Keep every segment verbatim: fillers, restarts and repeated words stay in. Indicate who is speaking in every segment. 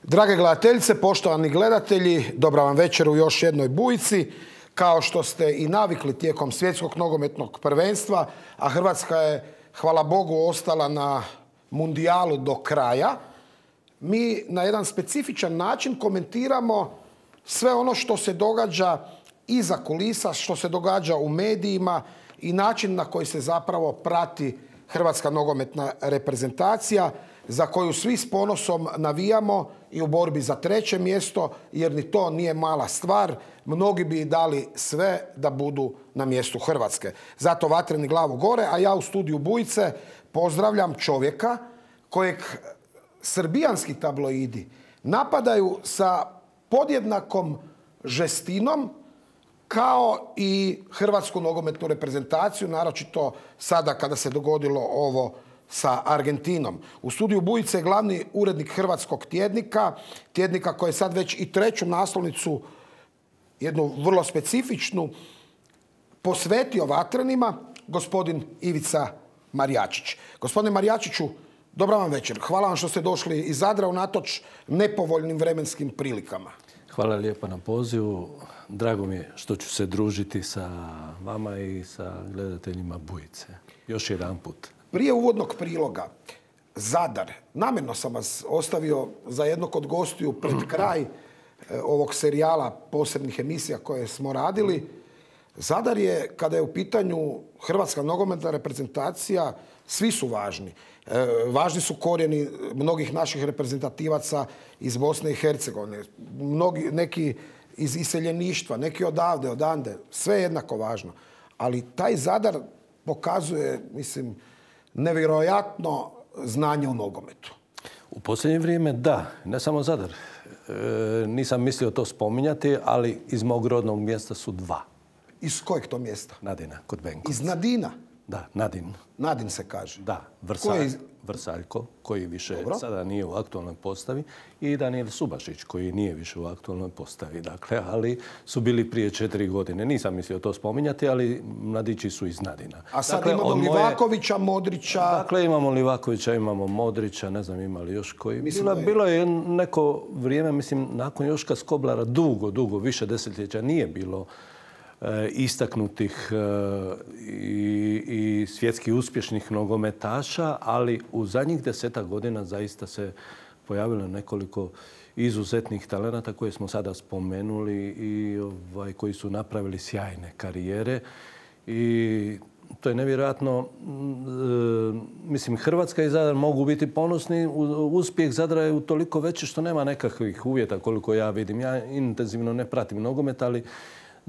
Speaker 1: Drage gledateljice, poštovani gledatelji, dobra vam večer u još jednoj Bujici. Kao što ste i navikli tijekom svjetskog nogometnog prvenstva, a Hrvatska je, hvala Bogu, ostala na mundijalu do kraja, mi na jedan specifičan način komentiramo sve ono što se događa iza kulisa, što se događa u medijima i način na koji se zapravo prati hrvatska nogometna reprezentacija, za koju svi s ponosom navijamo i u borbi za treće mjesto, jer ni to nije mala stvar. Mnogi bi dali sve da budu na mjestu Hrvatske. Zato vatreni glavu gore, a ja u studiju Bujice pozdravljam čovjeka kojeg srbijanski tabloidi napadaju sa podjednakom žestinom kao i hrvatsku nogometnu reprezentaciju, naročito sada kada se dogodilo ovo sa Argentinom. U studiju Bujice je glavni urednik hrvatskog tjednika, tjednika koji je sad već i treću naslovnicu, jednu vrlo specifičnu, posvetio vatrenima, gospodin Ivica Marjačić. Gospodine Marjačiću, dobra vam večer. Hvala vam što ste došli iz Zadra unatoč nepovoljnim vremenskim prilikama.
Speaker 2: Hvala lijepa na pozivu. Drago mi je što ću se družiti sa vama i sa gledateljima Bujice. Još jedan put.
Speaker 1: Prije uvodnog priloga, Zadar, namjerno sam vas ostavio za jednog od gostiju pred kraj ovog serijala posebnih emisija koje smo radili. Zadar je, kada je u pitanju hrvatska nogometna reprezentacija, svi su važni. E, važni su korijeni mnogih naših reprezentativaca iz Bosne i Hercegovine, mnogi, neki iz iseljeništva, neki odavde, odande, sve jednako važno. Ali taj Zadar pokazuje, mislim, nevjerojatno znanje u nogometu.
Speaker 2: U posljednje vrijeme da, ne samo Zadar. E, nisam mislio to spominjati, ali iz mog rodnog mjesta su dva.
Speaker 1: Iz kojeg to mjesta?
Speaker 2: Nadina, kod Benkovca.
Speaker 1: Iz Nadina?
Speaker 2: Da, Nadin.
Speaker 1: Nadin se kaže?
Speaker 2: Da, Vrsalj, iz... Vrsaljko, koji više Dobro. sada nije u aktualnoj postavi, i Danijel Subašić, koji nije više u aktualnoj postavi. Dakle, ali su bili prije četiri godine. Nisam mislio to spominjati, ali mladići su iz Nadina.
Speaker 1: A sad dakle, imamo Livakovića, moje... Modrića...
Speaker 2: Dakle, imamo Livakovića, imamo Modrića, ne znam ima li još koji. Bilo, je... bilo je neko vrijeme, mislim, nakon Joška Skoblara, dugo, dugo, više desetljeća nije bilo istaknutih i, i svjetski uspješnih nogometaša, ali u zadnjih desetak godina zaista se pojavilo nekoliko izuzetnih talenata koje smo sada spomenuli i ovaj, koji su napravili sjajne karijere. I to je nevjerojatno. Mislim, Hrvatska i Zadar mogu biti ponosni. Uspjeh Zadra je utoliko veći što nema nekakvih uvjeta koliko ja vidim. Ja intenzivno ne pratim nogomet, ali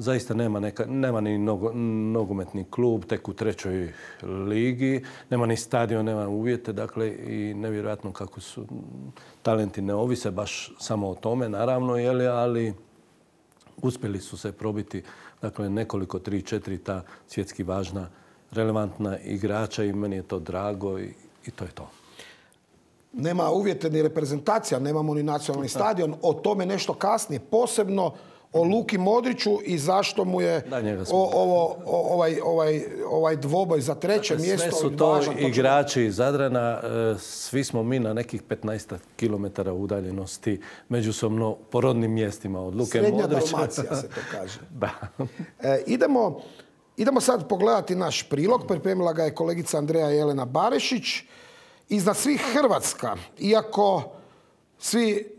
Speaker 2: zaista nema, neka, nema ni nogo, nogometni klub, tek u trećoj ligi, nema ni stadion, nema uvjete, dakle i nevjerojatno kako su talenti ne ovise baš samo o tome, naravno, jeli, ali uspjeli su se probiti, dakle, nekoliko, tri, četiri ta svjetski važna, relevantna igrača i meni je to drago i, i to je to.
Speaker 1: Nema uvjete ni reprezentacija, nemamo ni nacionalni stadion, o tome nešto kasnije, posebno o Luki Modriću i zašto mu je o, ovo, o, ovaj, ovaj, ovaj dvoboj za treće dakle, mjesto.
Speaker 2: Sve su to važan, igrači iz Zadrana. Svi smo mi na nekih petnaest kilometara udaljenosti međusobno po rodnim mjestima od Luke
Speaker 1: Srednja
Speaker 2: Modrića.
Speaker 1: Srednja Dalmacija se to kaže.
Speaker 2: Da.
Speaker 1: E, idemo, idemo sad pogledati naš prilog. Pripremila ga je kolegica Andreja Jelena Barešić. Iznad svih Hrvatska, iako svi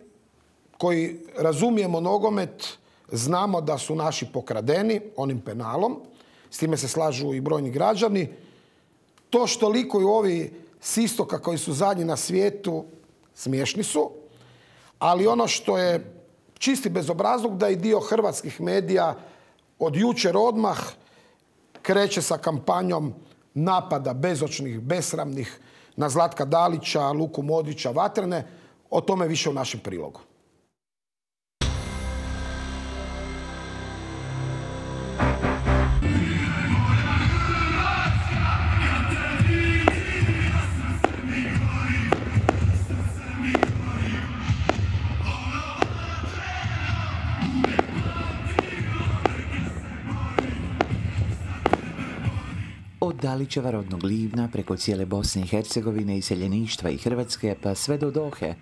Speaker 1: koji razumijemo nogomet znamo da su naši pokradeni onim penalom, s time se slažu i brojni građani. To što likuju ovi s istoka koji su zadnji na svijetu, smiješni su, ali ono što je čisti bezobrazluk da i dio hrvatskih medija od jučer odmah kreće sa kampanjom napada bezočnih, besramnih na Zlatka Dalića, Luku Modrića, Vatrene. O tome više u našem prilogu.
Speaker 3: Od Dalićeva rodnog Livna preko cijele Bosne i Hercegovine, iseljeništva i Hrvatske pa sve do Dohe,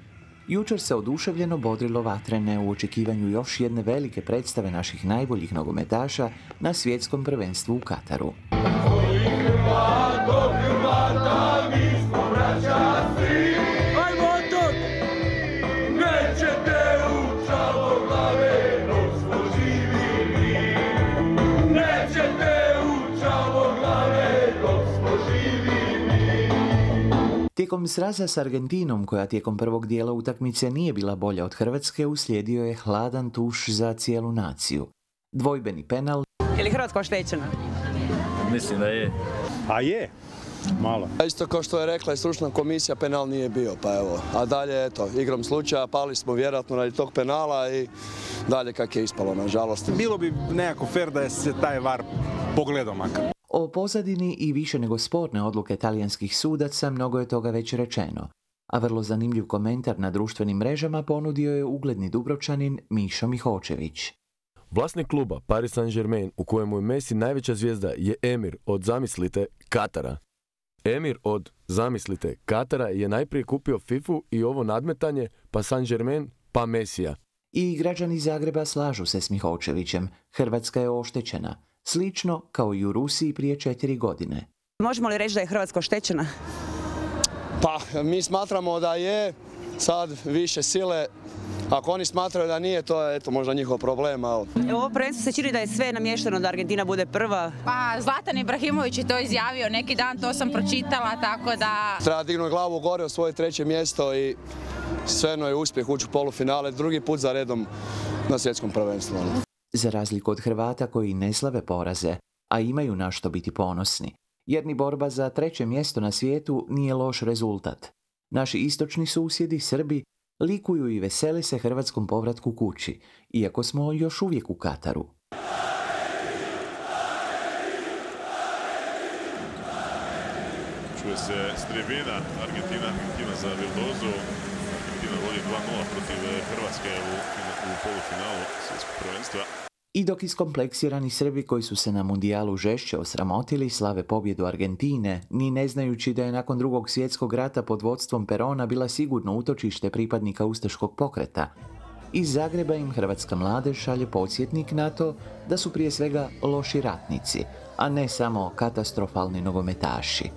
Speaker 3: Jučer se oduševljeno bodrilo vatrene u očekivanju još jedne velike predstave naših najboljih nogometaša na svjetskom prvenstvu u Kataru. Tijekom sraza s Argentinom, koja tijekom prvog dijela utakmice nije bila bolja od Hrvatske, uslijedio je hladan tuš za cijelu naciju. Dvojbeni penal.
Speaker 4: Je li Hrvatska oštećena?
Speaker 5: Mislim da je.
Speaker 6: A je, malo.
Speaker 7: Isto kao što je rekla i stručna komisija, penal nije bio, pa evo. A dalje, eto, igrom slučaja, pali smo vjerojatno radi tog penala i dalje kak je ispalo, nažalost.
Speaker 6: Bilo bi nekako fair da je se taj var pogledao makar.
Speaker 3: O pozadini i više nego sporne odluke talijanskih sudaca mnogo je toga već rečeno, a vrlo zanimljiv komentar na društvenim mrežama ponudio je ugledni Dubrovčanin Mišo Mihočević.
Speaker 8: Vlasnik kluba Paris Saint-Germain, u kojemu je Messi najveća zvijezda, je emir od, zamislite, Katara. Emir od, zamislite, Katara je najprije kupio fifu i ovo nadmetanje, pa Saint-Germain, pa Messija.
Speaker 3: I građani Zagreba slažu se s Mihočevićem. Hrvatska je oštećena. Slično kao i u Rusiji prije četiri godine.
Speaker 4: Možemo li reći da je Hrvatska oštećena?
Speaker 7: Pa, mi smatramo da je sad više sile. Ako oni smatraju da nije, to je eto, možda njihov problem. Ali...
Speaker 4: Ovo prvenstvo se čini da je sve namješteno da Argentina bude prva.
Speaker 9: Pa, Zlatan Ibrahimović je to izjavio neki dan, to sam pročitala, tako da...
Speaker 7: Treba dignuti glavu gore u svoje treće mjesto i svejedno je uspjeh ući u polufinale, drugi put za redom na svjetskom prvenstvu.
Speaker 3: Za razliku od Hrvata koji ne slave poraze, a imaju na što biti ponosni, jer ni borba za treće mjesto na svijetu nije loš rezultat. Naši istočni susjedi, Srbi, likuju i vesele se hrvatskom povratku kući, iako smo još uvijek u Kataru.
Speaker 10: Čuje se s tribina, Argentina, Argentina za Vildozu. Argentina vodi dva nula protiv Hrvatske u, u polufinalu svjetskog prvenstva.
Speaker 3: I dok iskompleksirani Srbi koji su se na mundijalu žešće osramotili slave pobjedu Argentine, ni ne znajući da je nakon drugog svjetskog rata pod vodstvom Perona bila sigurno utočište pripadnika ustaškog pokreta, iz Zagreba im hrvatska mladež šalje podsjetnik na to da su prije svega loši ratnici, a ne samo katastrofalni nogometaši.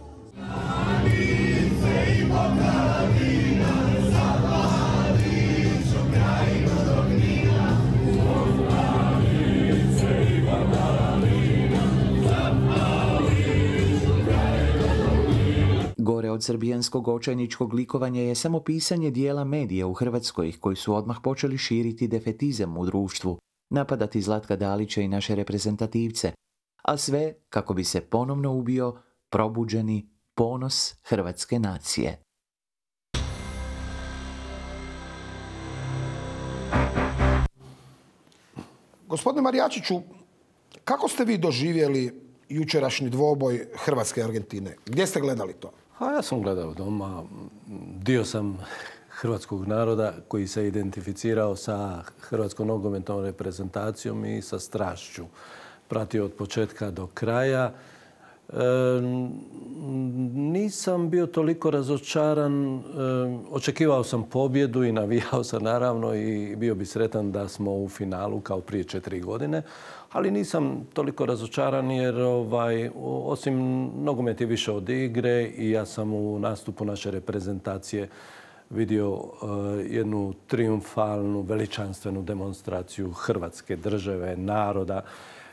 Speaker 3: Gore od srbijanskog očajničkog likovanja je samo pisanje dijela medija u Hrvatskoj koji su odmah počeli širiti defetizam u društvu, napadati Zlatka Dalića i naše reprezentativce, a sve kako bi se ponovno ubio probuđeni ponos hrvatske nacije.
Speaker 1: Gospodine Marijačiću, kako ste vi doživjeli jučerašnji dvoboj Hrvatske i Argentine? Gdje ste gledali to?
Speaker 2: A ja sam gledao doma. Dio sam hrvatskog naroda koji se identificirao sa hrvatskom nogometnom reprezentacijom i sa strašću. Pratio od početka do kraja. E, nisam bio toliko razočaran. E, očekivao sam pobjedu i navijao sam naravno i bio bi sretan da smo u finalu kao prije četiri godine. Ali nisam toliko razočaran jer ovaj, osim nogomet je više od igre i ja sam u nastupu naše reprezentacije vidio uh, jednu triumfalnu, veličanstvenu demonstraciju Hrvatske države, naroda,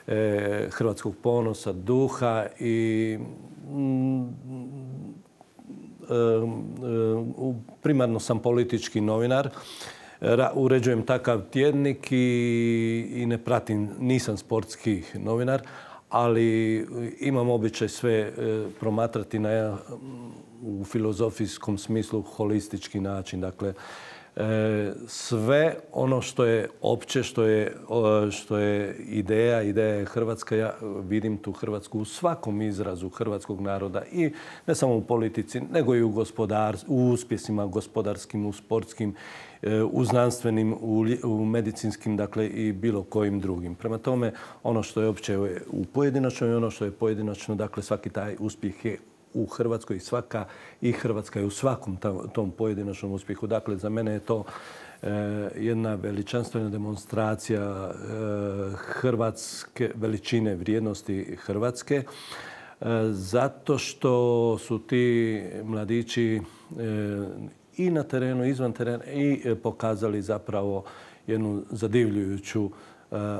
Speaker 2: eh, hrvatskog ponosa, duha i mm, uh, uh, primarno sam politički novinar. Uređujem takav tjednik i, i ne pratim, nisam sportski novinar, ali imam običaj sve e, promatrati na, u filozofijskom smislu holistički način. Dakle, e, sve ono što je opće, što je, o, što je ideja, ideja je Hrvatska, ja vidim tu Hrvatsku u svakom izrazu hrvatskog naroda i ne samo u politici, nego i u, gospodar, u uspjesima gospodarskim, u sportskim, u znanstvenim, u, u medicinskim, dakle i bilo kojim drugim. Prema tome, ono što je opće u pojedinačno i ono što je pojedinačno, dakle svaki taj uspjeh je u Hrvatskoj i svaka i Hrvatska je u svakom tom pojedinačnom uspjehu. Dakle, za mene je to jedna veličanstvena demonstracija hrvatske veličine, vrijednosti Hrvatske, zato što su ti mladići i na terenu, izvan terena i pokazali zapravo jednu zadivljujuću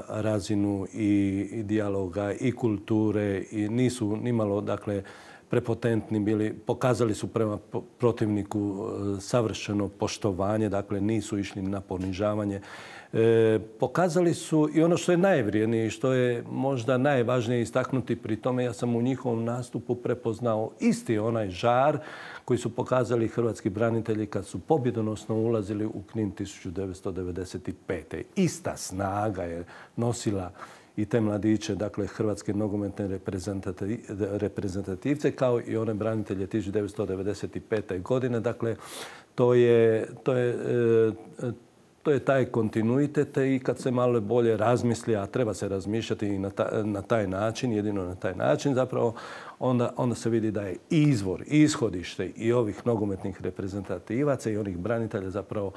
Speaker 2: razinu i dijaloga i kulture i nisu nimalo, dakle, prepotentni bili, pokazali su prema protivniku savršeno poštovanje, dakle nisu išli na ponižavanje. E, pokazali su i ono što je najvrijednije i što je možda najvažnije istaknuti pri tome, ja sam u njihovom nastupu prepoznao isti onaj žar koji su pokazali hrvatski branitelji kad su pobjedonosno ulazili u Knin tisuću devetsto devedeset pete. Ista snaga je nosila i te mladiće, dakle, hrvatske nogometne reprezentativce, kao i one branitelje tisuću devetsto devedeset pete. godine. Dakle, to je, to je, to je taj kontinuitet i kad se malo bolje razmisli, a treba se razmišljati i na, ta, na taj način, jedino na taj način zapravo, onda, onda se vidi da je izvor, ishodište i ovih nogometnih reprezentativaca i onih branitelja zapravo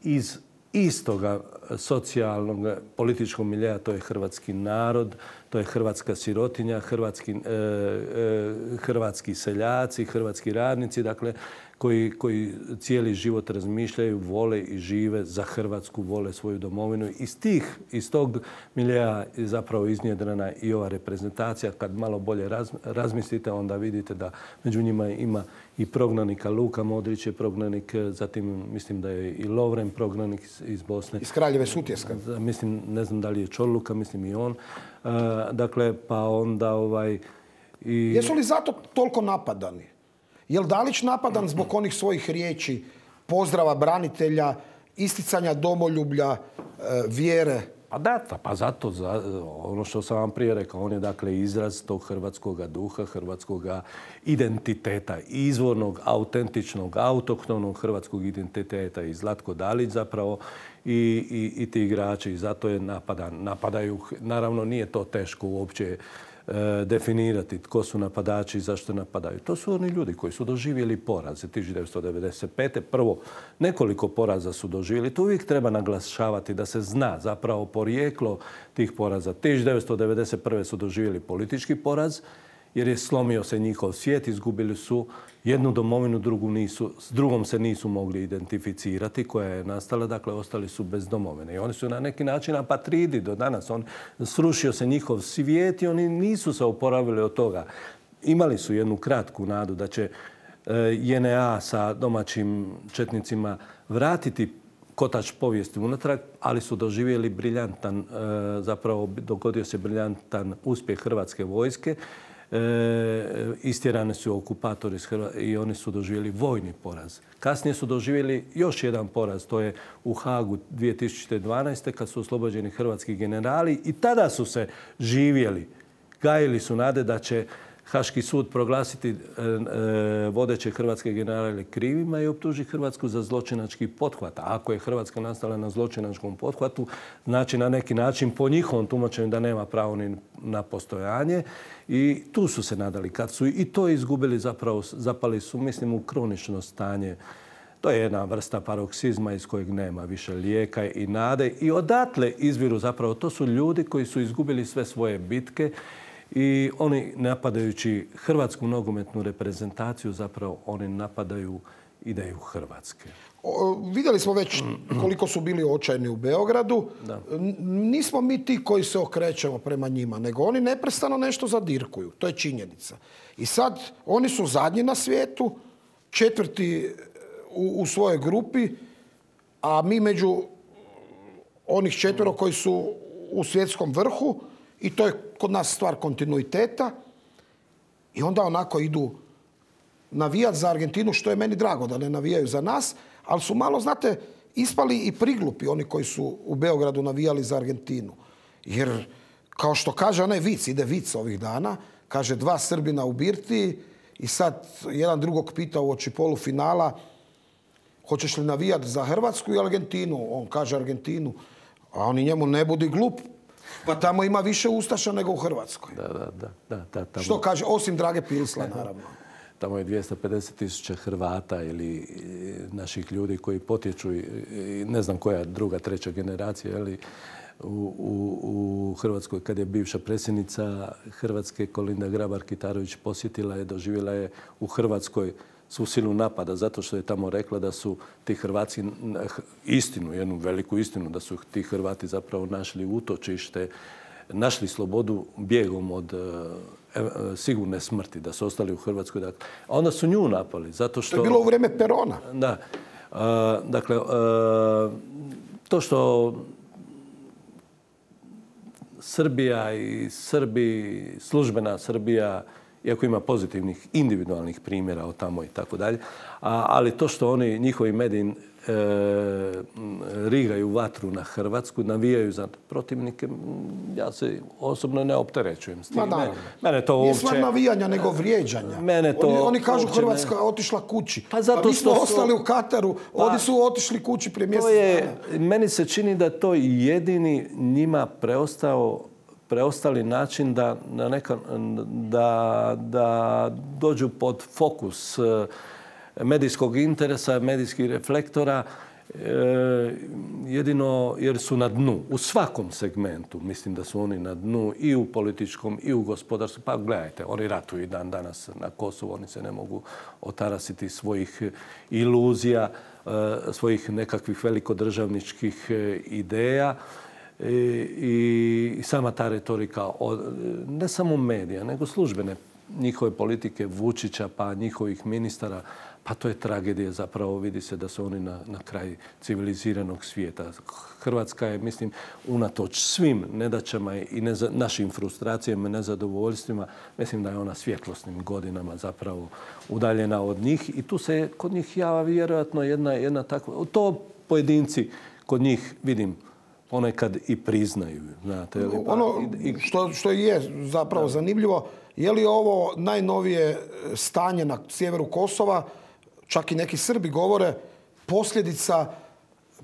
Speaker 2: iz istoga socijalnog, političkog miljeja, to je hrvatski narod, to je hrvatska sirotinja, hrvatski, e, e, hrvatski seljaci, hrvatski radnici, dakle, koji, koji cijeli život razmišljaju, vole i žive za Hrvatsku, vole svoju domovinu. Iz tih, iz tog miljeja je zapravo iznjedrena i ova reprezentacija. Kad malo bolje raz, razmislite, onda vidite da među njima ima i prognanika. Luka Modrić je prognanik, zatim mislim da je i Lovren prognanik iz, iz Bosne.
Speaker 1: Iz Kraljeve Sutjeska.
Speaker 2: Mislim, ne znam da li je Čorluka, mislim i on. Uh, dakle, pa onda ovaj... I...
Speaker 1: Jesu li zato toliko napadani? Je li Dalić napadan zbog onih svojih riječi, pozdrava branitelja, isticanja domoljublja, vjere?
Speaker 2: Pa da, pa zato, za, ono što sam vam prije rekao, on je dakle izraz tog hrvatskog duha, hrvatskog identiteta, izvornog, autentičnog, autohtonog hrvatskog identiteta i Zlatko Dalić zapravo i, i, i ti igrači. I zato je napadan. Napadaju, naravno nije to teško uopće definirati tko su napadači i zašto napadaju. To su oni ljudi koji su doživjeli poraze tisuću devetsto devedeset pete. Prvo, nekoliko poraza su doživjeli. To uvijek treba naglašavati da se zna zapravo porijeklo tih poraza. tisuću devetsto devedeset prve su doživjeli politički poraz jer je slomio se njihov svijet, izgubili su jednu domovinu, drugu nisu, s drugom se nisu mogli identificirati koja je nastala, dakle ostali su bez domovine. I oni su na neki način apatridi do danas. On, srušio se njihov svijet i oni nisu se oporavili od toga. Imali su jednu kratku nadu da će J N A sa domaćim četnicima vratiti kotač povijesti unatrag, ali su doživjeli briljantan, zapravo dogodio se briljantan uspjeh hrvatske vojske. E, istjerane su okupatori i oni su doživjeli vojni poraz. Kasnije su doživjeli još jedan poraz, to je u Hagu dvije tisuće dvanaeste. kad su oslobođeni hrvatski generali i tada su se živjeli. Gajili su nade da će Haški sud proglasiti e, e, vodeće hrvatske generale krivima i optuži Hrvatsku za zločinački pothvat. A ako je Hrvatska nastala na zločinačkom pothvatu, znači na neki način po njihovom tumačenju da nema pravo ni na postojanje. I tu su se nadali. Kad su i to izgubili, zapravo zapali su, mislim, u kronično stanje. To je jedna vrsta paroksizma iz kojeg nema više lijeka i nade. I odatle izviru zapravo, to su ljudi koji su izgubili sve svoje bitke i oni napadajući hrvatsku nogometnu reprezentaciju, zapravo oni napadaju ideju Hrvatske.
Speaker 1: O, vidjeli smo već koliko su bili očajni u Beogradu. Da. Nismo mi ti koji se okrećemo prema njima, nego oni neprestano nešto zadirkuju. To je činjenica. I sad oni su zadnji na svijetu, četvrti u, u svojoj grupi, a mi među onih četvero koji su u svjetskom vrhu, i to je kod nas stvar kontinuiteta. I onda onako idu navijati za Argentinu, što je meni drago da ne navijaju za nas, ali su malo, znate, ispali i priglupi oni koji su u Beogradu navijali za Argentinu. Jer, kao što kaže onaj vic, ide vic ovih dana, kaže dva Srbina u birtiji i sad jedan drugog pita u oči polufinala hoćeš li navijati za Hrvatsku i Argentinu? On kaže Argentinu, a oni njemu ne budi glup. Pa tamo ima više ustaša nego u Hrvatskoj.
Speaker 2: Da, da, da. da, da tamo.
Speaker 1: Što kaže, osim Drage Pilsla, naravno.
Speaker 2: tamo je dvjesto pedeset tisuća Hrvata ili naših ljudi koji potječu, ne znam koja druga, treća generacija, ali u, u, u Hrvatskoj kad je bivša predsjednica Hrvatske Kolinda Grabar-Kitarović posjetila je, doživjela je u Hrvatskoj svu silu napada zato što je tamo rekla da su ti Hrvati, istinu, jednu veliku istinu, da su ti Hrvati zapravo našli utočište, našli slobodu bijegom od e, sigurne smrti, da su ostali u Hrvatskoj. Dakle, a onda su nju napali zato što...
Speaker 1: To je bilo u vrijeme Perona.
Speaker 2: Da. E, dakle, e, to što Srbija i Srbi, službena Srbija, iako ima pozitivnih individualnih primjera od tamo i tako dalje, ali to što oni, njihovi mediji e, rigaju vatru na Hrvatsku, navijaju za protivnike, ja se osobno ne opterećujem s tim.
Speaker 1: Ma
Speaker 2: mene, mene to
Speaker 1: nije
Speaker 2: uopće...
Speaker 1: stvar navijanja, nego vrijeđanja.
Speaker 2: Mene to
Speaker 1: oni, oni kažu
Speaker 2: uopće
Speaker 1: Hrvatska
Speaker 2: ne...
Speaker 1: otišla kući.
Speaker 2: Pa zato
Speaker 1: a mi smo
Speaker 2: što
Speaker 1: ostali
Speaker 2: su...
Speaker 1: u Kataru,
Speaker 2: pa,
Speaker 1: oni su otišli kući prije mjesec dana.
Speaker 2: Meni se čini da to jedini njima preostao preostali način da, na neka, da, da dođu pod fokus medijskog interesa, medijskih reflektora, e, jedino jer su na dnu. U svakom segmentu mislim da su oni na dnu i u političkom i u gospodarskom. Pa gledajte, oni ratuju i dan danas na Kosovu, oni se ne mogu otarasiti svojih iluzija, e, svojih nekakvih velikodržavničkih ideja. I, i sama ta retorika, ne samo medija, nego službene njihove politike Vučića, pa njihovih ministara, pa to je tragedija zapravo. Vidi se da su oni na, na kraj civiliziranog svijeta. Hrvatska je, mislim, unatoč svim nedaćama i neza, našim frustracijama i nezadovoljstvima, mislim da je ona svjetlosnim godinama zapravo udaljena od njih i tu se kod njih java vjerojatno jedna, jedna takva... To pojedinci kod njih, vidim, ponekad i priznaju. Znate, li, pa,
Speaker 1: ono
Speaker 2: i,
Speaker 1: što, što je zapravo da. zanimljivo, je li ovo najnovije stanje na sjeveru Kosova, čak i neki Srbi govore, posljedica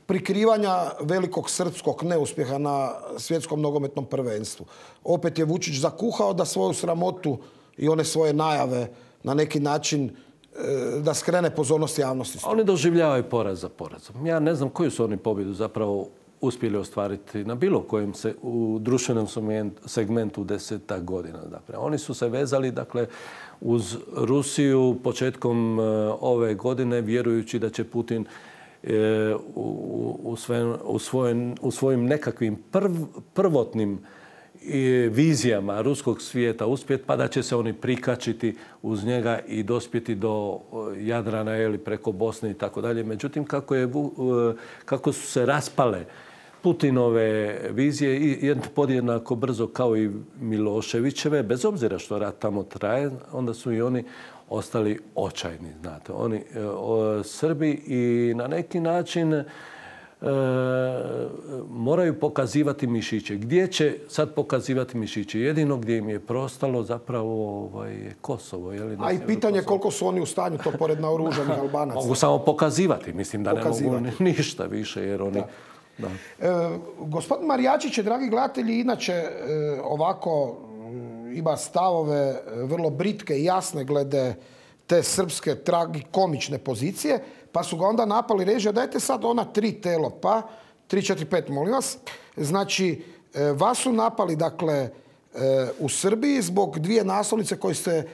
Speaker 1: prikrivanja velikog srpskog neuspjeha na svjetskom nogometnom prvenstvu. Opet je Vučić zakuhao da svoju sramotu i one svoje najave na neki način da skrene pozornost javnosti.
Speaker 2: Oni doživljavaju poraz za porazom. Ja ne znam koju su oni pobjedu zapravo uspjeli ostvariti na bilo kojem se u društvenom segmentu deseta godina. Dakle, oni su se vezali dakle, uz Rusiju početkom ove godine vjerujući da će Putin e, u, u, sve, u, svojen, u svojim nekakvim prv, prvotnim vizijama ruskog svijeta uspjeti, pa da će se oni prikačiti uz njega i dospjeti do Jadrana ili preko Bosne i tako dalje. Međutim, kako, je, kako su se raspale Putinove vizije podjednako brzo kao i Miloševićeve, bez obzira što rat tamo traje, onda su i oni ostali očajni. Znate. Oni, o, Srbi i na neki način e, moraju pokazivati mišiće. Gdje će sad pokazivati mišiće? Jedino gdje im je prostalo zapravo ovaj, Kosovo. Je li,
Speaker 1: a i pitanje Kosovo. Koliko su oni u stanju to pored naoružanih Albanaca?
Speaker 2: Mogu samo pokazivati. Mislim da pokazivati. Ne mogu ništa više jer oni...
Speaker 1: Da. E, gospodin Marijačić je, dragi gledatelji, inače e, ovako ima stavove vrlo britke i jasne glede te srpske tragikomične pozicije, pa su ga onda napali režija, dajte sad ona tri telo, pa tri, četiri, pet, molim vas. Znači, e, vas su napali, dakle, e, u Srbiji zbog dvije naslovnice koje ste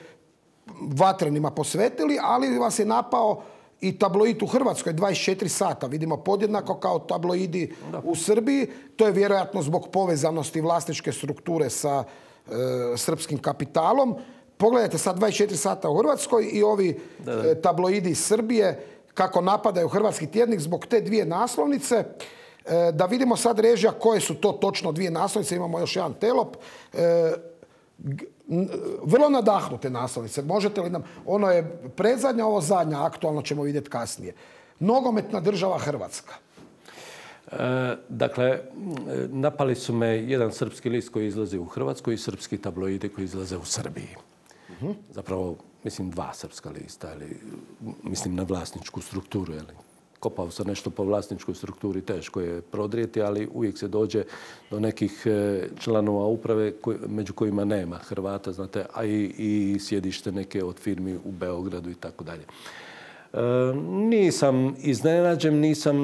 Speaker 1: vatrenima posvetili, ali vas je napao i tabloid u Hrvatskoj dvadeset četiri sata. Vidimo podjednako kao tabloidi da. U Srbiji. To je vjerojatno zbog povezanosti vlasničke strukture sa e, srpskim kapitalom. Pogledajte sad dvadeset četiri sata u Hrvatskoj i ovi da, da. E, tabloidi iz Srbije kako napadaju hrvatski tjednik zbog te dvije naslovnice. E, da vidimo sad režija koje su to točno dvije naslovnice. Imamo još jedan telop. E, vrlo nadahnute naslovnice. Možete li nam... Ono je predzadnja, ovo zadnja, aktualno ćemo vidjeti kasnije. Nogometna država Hrvatska.
Speaker 2: E, dakle, napali su me jedan srpski list koji izlazi u Hrvatskoj i srpski tabloidi koji izlaze u Srbiji. Uh-huh. Zapravo, mislim, dva srpska lista, ili, mislim na vlasničku strukturu, ili kopao sam nešto po vlasničkoj strukturi, teško je prodrijeti, ali uvijek se dođe do nekih članova uprave među kojima nema Hrvata, znate, a i, i sjedište neke od firmi u Beogradu i tako dalje. Nisam iznenađen, nisam,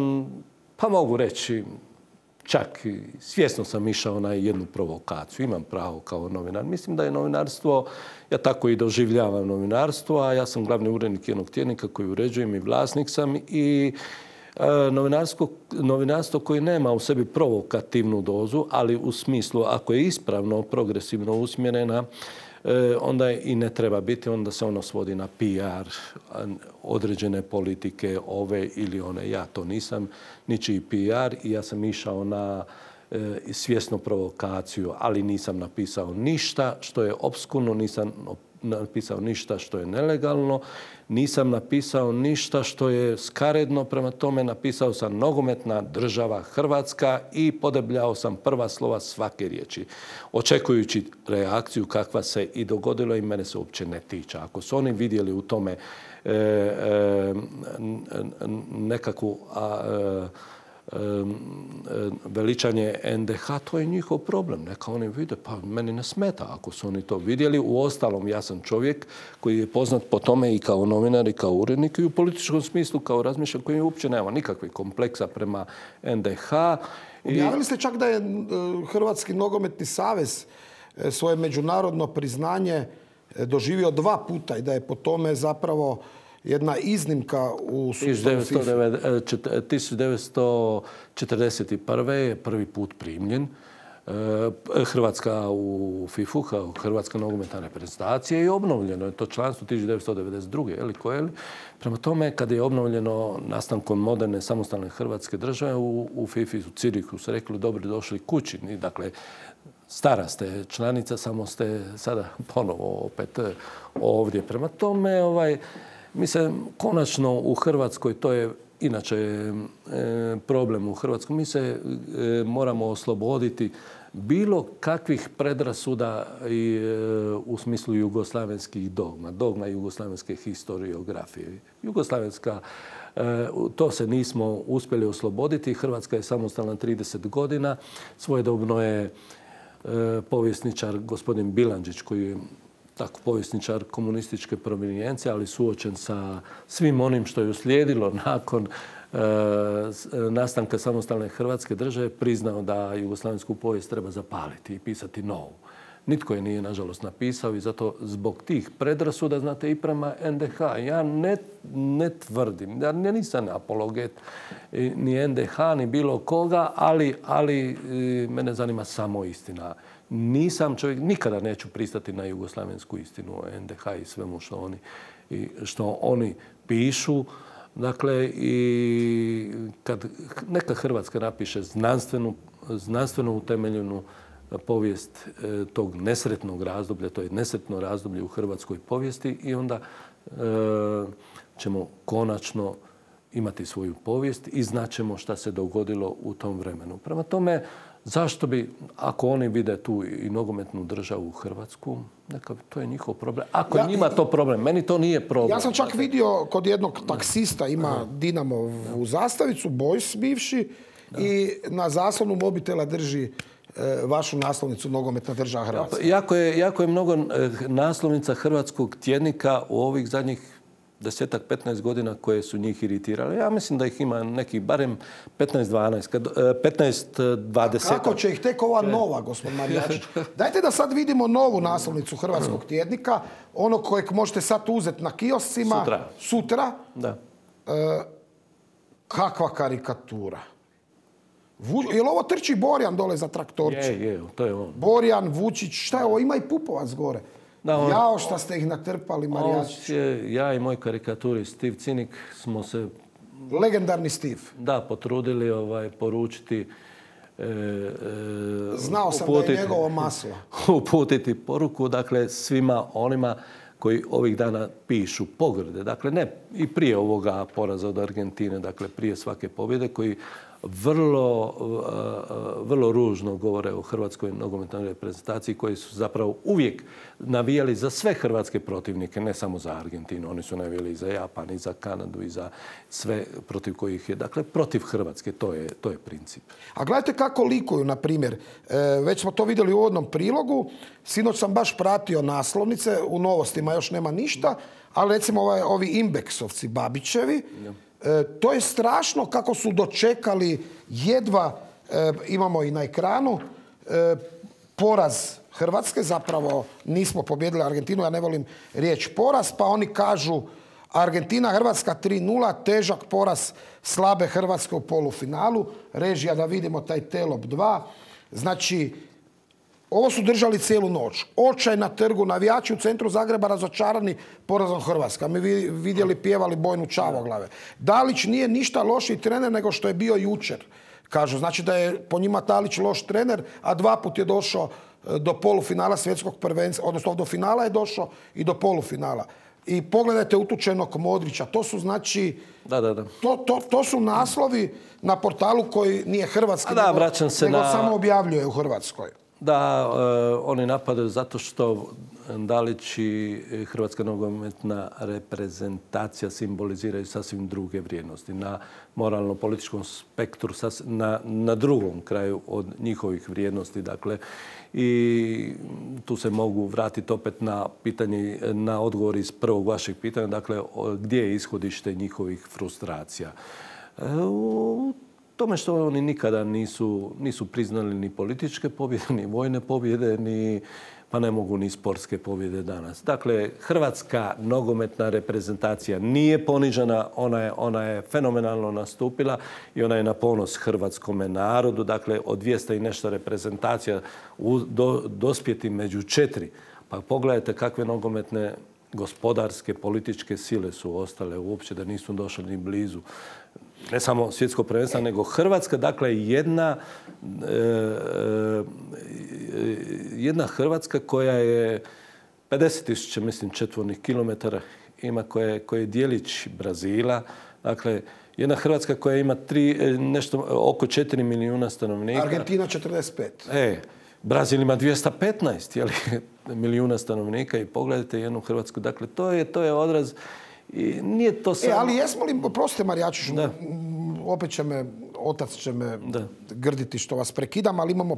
Speaker 2: pa mogu reći, čak svjesno sam išao na jednu provokaciju. Imam pravo kao novinar. Mislim da je novinarstvo, ja tako i doživljavam novinarstvo, a ja sam glavni urednik jednog tjednika koji uređujem i vlasnik sam i e, novinarstvo, novinarstvo koje nema u sebi provokativnu dozu, ali u smislu ako je ispravno, progresivno usmjerena, e, onda i ne treba biti, onda se ono svodi na P R, određene politike, ove ili one. Ja to nisam, ničiji P R i ja sam išao na e, svjesnu provokaciju, ali nisam napisao ništa što je opskurno, nisam napisao ništa što je nelegalno, nisam napisao ništa što je skaredno, prema tome napisao sam nogometna država Hrvatska i podebljao sam prva slova svake riječi, očekujući reakciju kakva se i dogodilo i mene se uopće ne tiče. Ako su oni vidjeli u tome e, e, nekakvu a, e, veličanje N D H, to je njihov problem. Neka oni vide, pa meni ne smeta ako su oni to vidjeli. Uostalom, ja sam čovjek koji je poznat po tome i kao novinar i kao urednik i u političkom smislu kao razmišljam koji uopće nema nikakvih kompleksa prema N D H.
Speaker 1: Objavili ste čak da je Hrvatski nogometni savez svoje međunarodno priznanje doživio dva puta i da je po tome zapravo jedna iznimka u sustavu FIFA.
Speaker 2: tisuću devetsto četrdeset prve je prvi put primljen Hrvatska u fifu, kao Hrvatska nogometna reprezentacija i obnovljeno je to članstvo tisuću devetsto devedeset druge Eli koje, prema tome, kada je obnovljeno nastankom moderne samostalne Hrvatske države u, u fifi, u Cirihu su rekli dobro došli kući. Dakle, stara ste članica, samo ste sada ponovo opet ovdje. Prema tome, ovaj, mislim, konačno u Hrvatskoj, to je inače e, problem u Hrvatskoj, mi se e, moramo osloboditi bilo kakvih predrasuda i, e, u smislu jugoslavenskih dogma, dogma jugoslavenske historiografije. Jugoslavenska, e, to se nismo uspjeli osloboditi. Hrvatska je samostalna trideset godina. Svojedobno je e, povjesničar gospodin Bilandžić, koji je tako povjesničar komunističke provenijencije, ali suočen sa svim onim što je uslijedilo nakon e, nastanka samostalne Hrvatske države, priznao da jugoslavensku povijest treba zapaliti i pisati novu. Nitko je nije, nažalost, napisao i zato zbog tih predrasuda, znate, i prema N D H. Ja ne, ne tvrdim, ja nisam apologet ni N D H, ni bilo koga, ali, ali mene zanima samo istina. Nisam čovjek, nikada neću pristati na jugoslavensku istinu o N D H i svemu što oni, i što oni pišu. Dakle, i kad neka Hrvatska napiše znanstvenu, znanstveno utemeljenu povijest tog nesretnog razdoblja, to je nesretno razdoblje u hrvatskoj povijesti i onda e, ćemo konačno imati svoju povijest i znaćemo šta se dogodilo u tom vremenu. Prema tome, zašto bi, ako oni vide tu i nogometnu državu u Hrvatsku, neka, to je njihov problem. Ako ja, njima to problem, meni to nije problem.
Speaker 1: Ja sam čak vidio kod jednog taksista, ima Dinamovu zastavicu, Boys bivši, da. I na zaslonu mobitela drži vašu naslovnicu Nogometna država Hrvatska.
Speaker 2: Jako je, jako je mnogo naslovnica hrvatskog tjednika u ovih zadnjih desetak, petnaest godina koje su njih iritirale. Ja mislim da ih ima nekih barem petnaest, dvanaest, petnaest, dvadeset.
Speaker 1: Kako će ih tek ova nova, gospod Marijačić? Dajte da sad vidimo novu naslovnicu hrvatskog tjednika, ono kojeg možete sad uzeti na kioscima.
Speaker 2: Sutra.
Speaker 1: Sutra.
Speaker 2: Da.
Speaker 1: E, kakva karikatura. Vu, jel ovo trči Borjan dole za traktorče?
Speaker 2: Je, je, to je on.
Speaker 1: Borjan, Vučić, šta je ovo? Ima i Pupovac gore. Da, on, Jao šta ste ih natrpali, Marijačić.
Speaker 2: Ja i moj karikaturi Steve Cinik smo se...
Speaker 1: Legendarni Steve.
Speaker 2: Da, potrudili ovaj, poručiti... E,
Speaker 1: e, Znao sam uputiti, da je njegovo maslo.
Speaker 2: Uputiti poruku, dakle, svima onima koji ovih dana pišu pogrde. Dakle, ne i prije ovoga poraza od Argentine, dakle, prije svake pobjede, koji vrlo, vrlo ružno govore o hrvatskoj nogometnoj reprezentaciji koji su zapravo uvijek navijali za sve hrvatske protivnike, ne samo za Argentinu. Oni su navijali i za Japan, i za Kanadu, i za sve protiv kojih je. Dakle, protiv Hrvatske, to je, to je princip.
Speaker 1: A gledajte kako likuju, na primjer. E, već smo to vidjeli u uvodnom prilogu. Sinoć sam baš pratio naslovnice, u Novostima još nema ništa, ali recimo ovaj, ovi Imbeksovci Babićevi, e, to je strašno kako su dočekali jedva, e, imamo i na ekranu, e, poraz Hrvatske, zapravo nismo pobjedili Argentinu, ja ne volim riječ poraz, pa oni kažu Argentina, Hrvatska tri nula, težak poraz slabe Hrvatske u polufinalu, režija da vidimo taj Telop dva. Znači, ovo su držali cijelu noć. Očaj na trgu, navijači u centru Zagreba razočarani porazom Hrvatska. Mi vidjeli, pjevali Bojnu Čavoglave. Dalić nije ništa lošiji trener nego što je bio jučer. Kažu, znači da je po njima Dalić loš trener, a dva put je došao do polufinala svjetskog prvenstva, odnosno do finala je došao i do polufinala. I pogledajte utučenog Modrića. To su znači...
Speaker 2: Da, da, da.
Speaker 1: To, to, to su naslovi na portalu koji nije hrvatski,
Speaker 2: da,
Speaker 1: nego,
Speaker 2: se
Speaker 1: nego
Speaker 2: na...
Speaker 1: samo objavljuje u Hrvatskoj.
Speaker 2: Da, e, oni napadaju zato što Dalić i hrvatska nogometna reprezentacija simboliziraju sasvim druge vrijednosti. Na moralno-političkom spektru, na, na drugom kraju od njihovih vrijednosti. Dakle, i tu se mogu vratiti opet na pitanje, na odgovor iz prvog vašeg pitanja. Dakle, gdje je ishodište njihovih frustracija? E, u tome što oni nikada nisu, nisu priznali ni političke pobjede, ni vojne pobjede, ni, pa ne mogu ni sportske pobjede danas. Dakle, hrvatska nogometna reprezentacija nije ponižena, ona je, ona je fenomenalno nastupila i ona je na ponos hrvatskome narodu. Dakle, od dvjesto i nešto reprezentacija u, do, dospjeti među četiri. Pa pogledajte kakve nogometne gospodarske, političke sile su ostale uopće, da nisu došli ni blizu. Ne samo svjetsko prvenstvo, nego Hrvatska, dakle jedna, e, jedna Hrvatska koja je pedeset tisuća, mislim, četvornih kilometara ima, koja je, koja je dijelić Brazila. Dakle, jedna Hrvatska koja ima tri, nešto, oko četiri milijuna stanovnika.
Speaker 1: Argentina četrdeset pet.
Speaker 2: E, Brazil ima dvjesto petnaest jeli, milijuna stanovnika i pogledajte jednu Hrvatsku. Dakle, to je, to je odraz. I nije to samo...
Speaker 1: E, ali jesmo li, prostite Marijačiću, opet će me, otac će me da. grditi što vas prekidam, ali imamo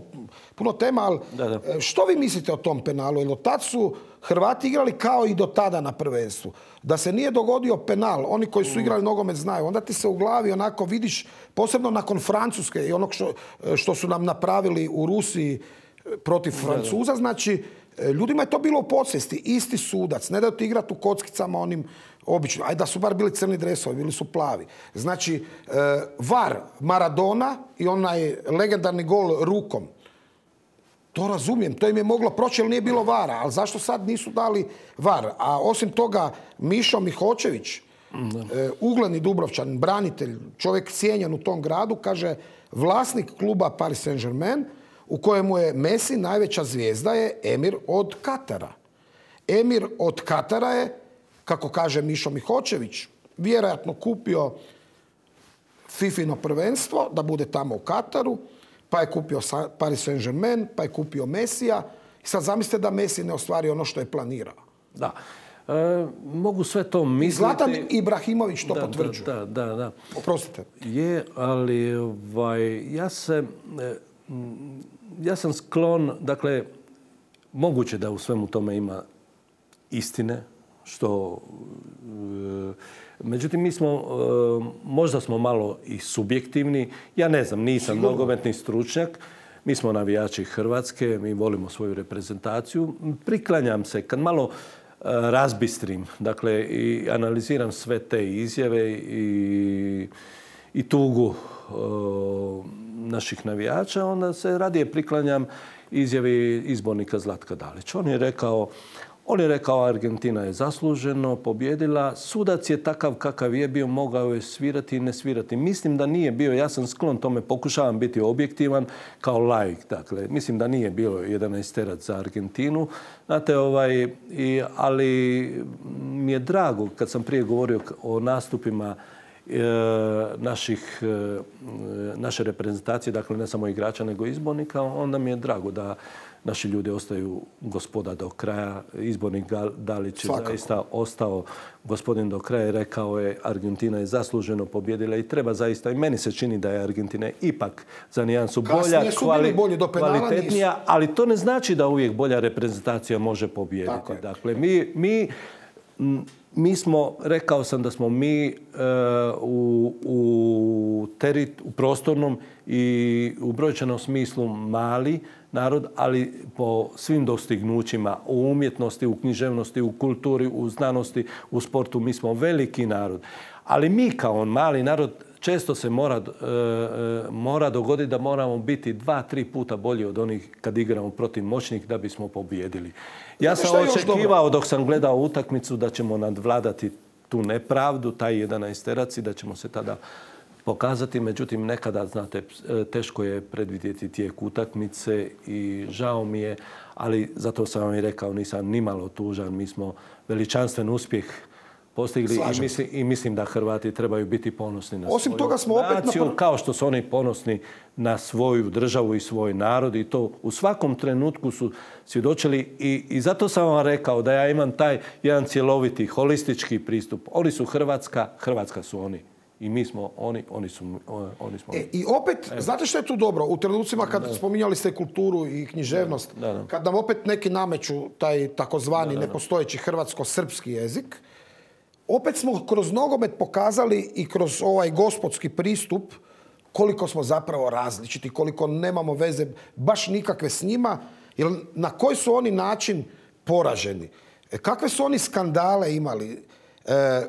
Speaker 1: puno tema, ali
Speaker 2: da, da.
Speaker 1: Što vi mislite o tom penalu? Jer od tad su Hrvati igrali kao i do tada na prvenstvu. Da se nije dogodio penal, oni koji su igrali nogomet znaju, onda ti se u glavi onako vidiš, posebno nakon Francuske i onog što, što su nam napravili u Rusiji protiv Francuza, da, da. Znači, ljudima je to bilo u podsvijesti. Isti sudac, ne daju ti igrati u kockicama onim obično. Ajde da su bar bili crni dresovi, bili su plavi. Znači, var Maradona i onaj legendarni gol rukom. To razumijem, to im je moglo proći jer nije bilo vara. Ali zašto sad nisu dali var? A osim toga, Mišo Mihočević, ugledni Dubrovčan, branitelj, čovjek cijenjen u tom gradu, kaže vlasnik kluba Paris Saint-Germain, u kojemu je Messi najveća zvijezda, je emir od Katara. Emir od Katara je, kako kaže Mišo Mihočević, vjerojatno kupio Fifino prvenstvo da bude tamo u Kataru, pa je kupio Paris Saint-Germain, pa je kupio Messija. I sad zamislite da Messi ne ostvari ono što je planirao.
Speaker 2: Da. E, mogu sve to misliti.
Speaker 1: Zlatan Ibrahimović to
Speaker 2: da,
Speaker 1: potvrđuje.
Speaker 2: Da, da, da.
Speaker 1: Oprostite.
Speaker 2: Je, ali ovaj, ja se... Ja sam sklon, dakle, moguće da u svemu tome ima istine, što... Međutim, mi smo, možda smo malo i subjektivni. Ja ne znam, nisam Sigurno. nogometni stručnjak. Mi smo navijači Hrvatske, mi volimo svoju reprezentaciju. Priklanjam se, kad malo razbistrim, dakle, i analiziram sve te izjave i, i tugu naših navijača, onda se radije priklanjam izjavi izbornika Zlatka Dalića. On je rekao, on je rekao Argentina je zasluženo pobjedila, sudac je takav kakav je bio, mogao je svirati i ne svirati. Mislim da nije bio, ja sam sklon tome, pokušavam biti objektivan kao laik. Dakle, mislim da nije bilo jedanaesterac za Argentinu. Znate, ovaj, i, ali mi je drago kad sam prije govorio o nastupima naših, naše reprezentacije, dakle ne samo igrača nego izbornika, onda mi je drago da naši ljudi ostaju gospoda do kraja. Izbornik Dalić je zaista ostao gospodin do kraja i rekao je Argentina je zasluženo pobjedila i treba zaista, i meni se čini da je Argentina ipak za nijansu bolja, kvali, kvalitetnija, ali to ne znači da uvijek bolja reprezentacija može pobijediti. Dakle, mi, mi Mi smo, rekao sam da smo mi e, u, u, terit, u prostornom i u brojčanom smislu mali narod, ali po svim dostignućima u umjetnosti, u književnosti, u kulturi, u znanosti, u sportu mi smo veliki narod. Ali mi kao mali narod često se mora, e, mora dogoditi da moramo biti dva, tri puta bolji od onih kad igramo protiv moćnih da bismo pobijedili. Ja sam očekivao dok sam gledao utakmicu da ćemo nadvladati tu nepravdu, taj jedanaesterac i da ćemo se tada pokazati. Međutim, nekada, znate, teško je predvidjeti tijek utakmice i žao mi je, ali zato sam vam i rekao, nisam nimalo tužan. Mi smo veličanstven uspjeh postigli i mislim, i mislim da Hrvati trebaju biti ponosni na
Speaker 1: Osim
Speaker 2: svoju
Speaker 1: toga smo opet
Speaker 2: naciju,
Speaker 1: na...
Speaker 2: kao što su oni ponosni na svoju državu i svoj narod i to u svakom trenutku su svjedočili i, i zato sam vam rekao da ja imam taj jedan cjeloviti, holistički pristup. Oni su Hrvatska, Hrvatska su oni. I mi smo oni, oni su oni smo.
Speaker 1: E, I opet, Evo. znate što je tu dobro? U trenucima kad da. spominjali ste kulturu i književnost, da, da. kad nam opet neki nameću taj takozvani da, da, nepostojeći hrvatsko-srpski jezik, opet smo kroz nogomet pokazali i kroz ovaj gospodski pristup koliko smo zapravo različiti, koliko nemamo veze baš nikakve s njima, jer na koji su oni način poraženi, kakve su oni skandale imali, e,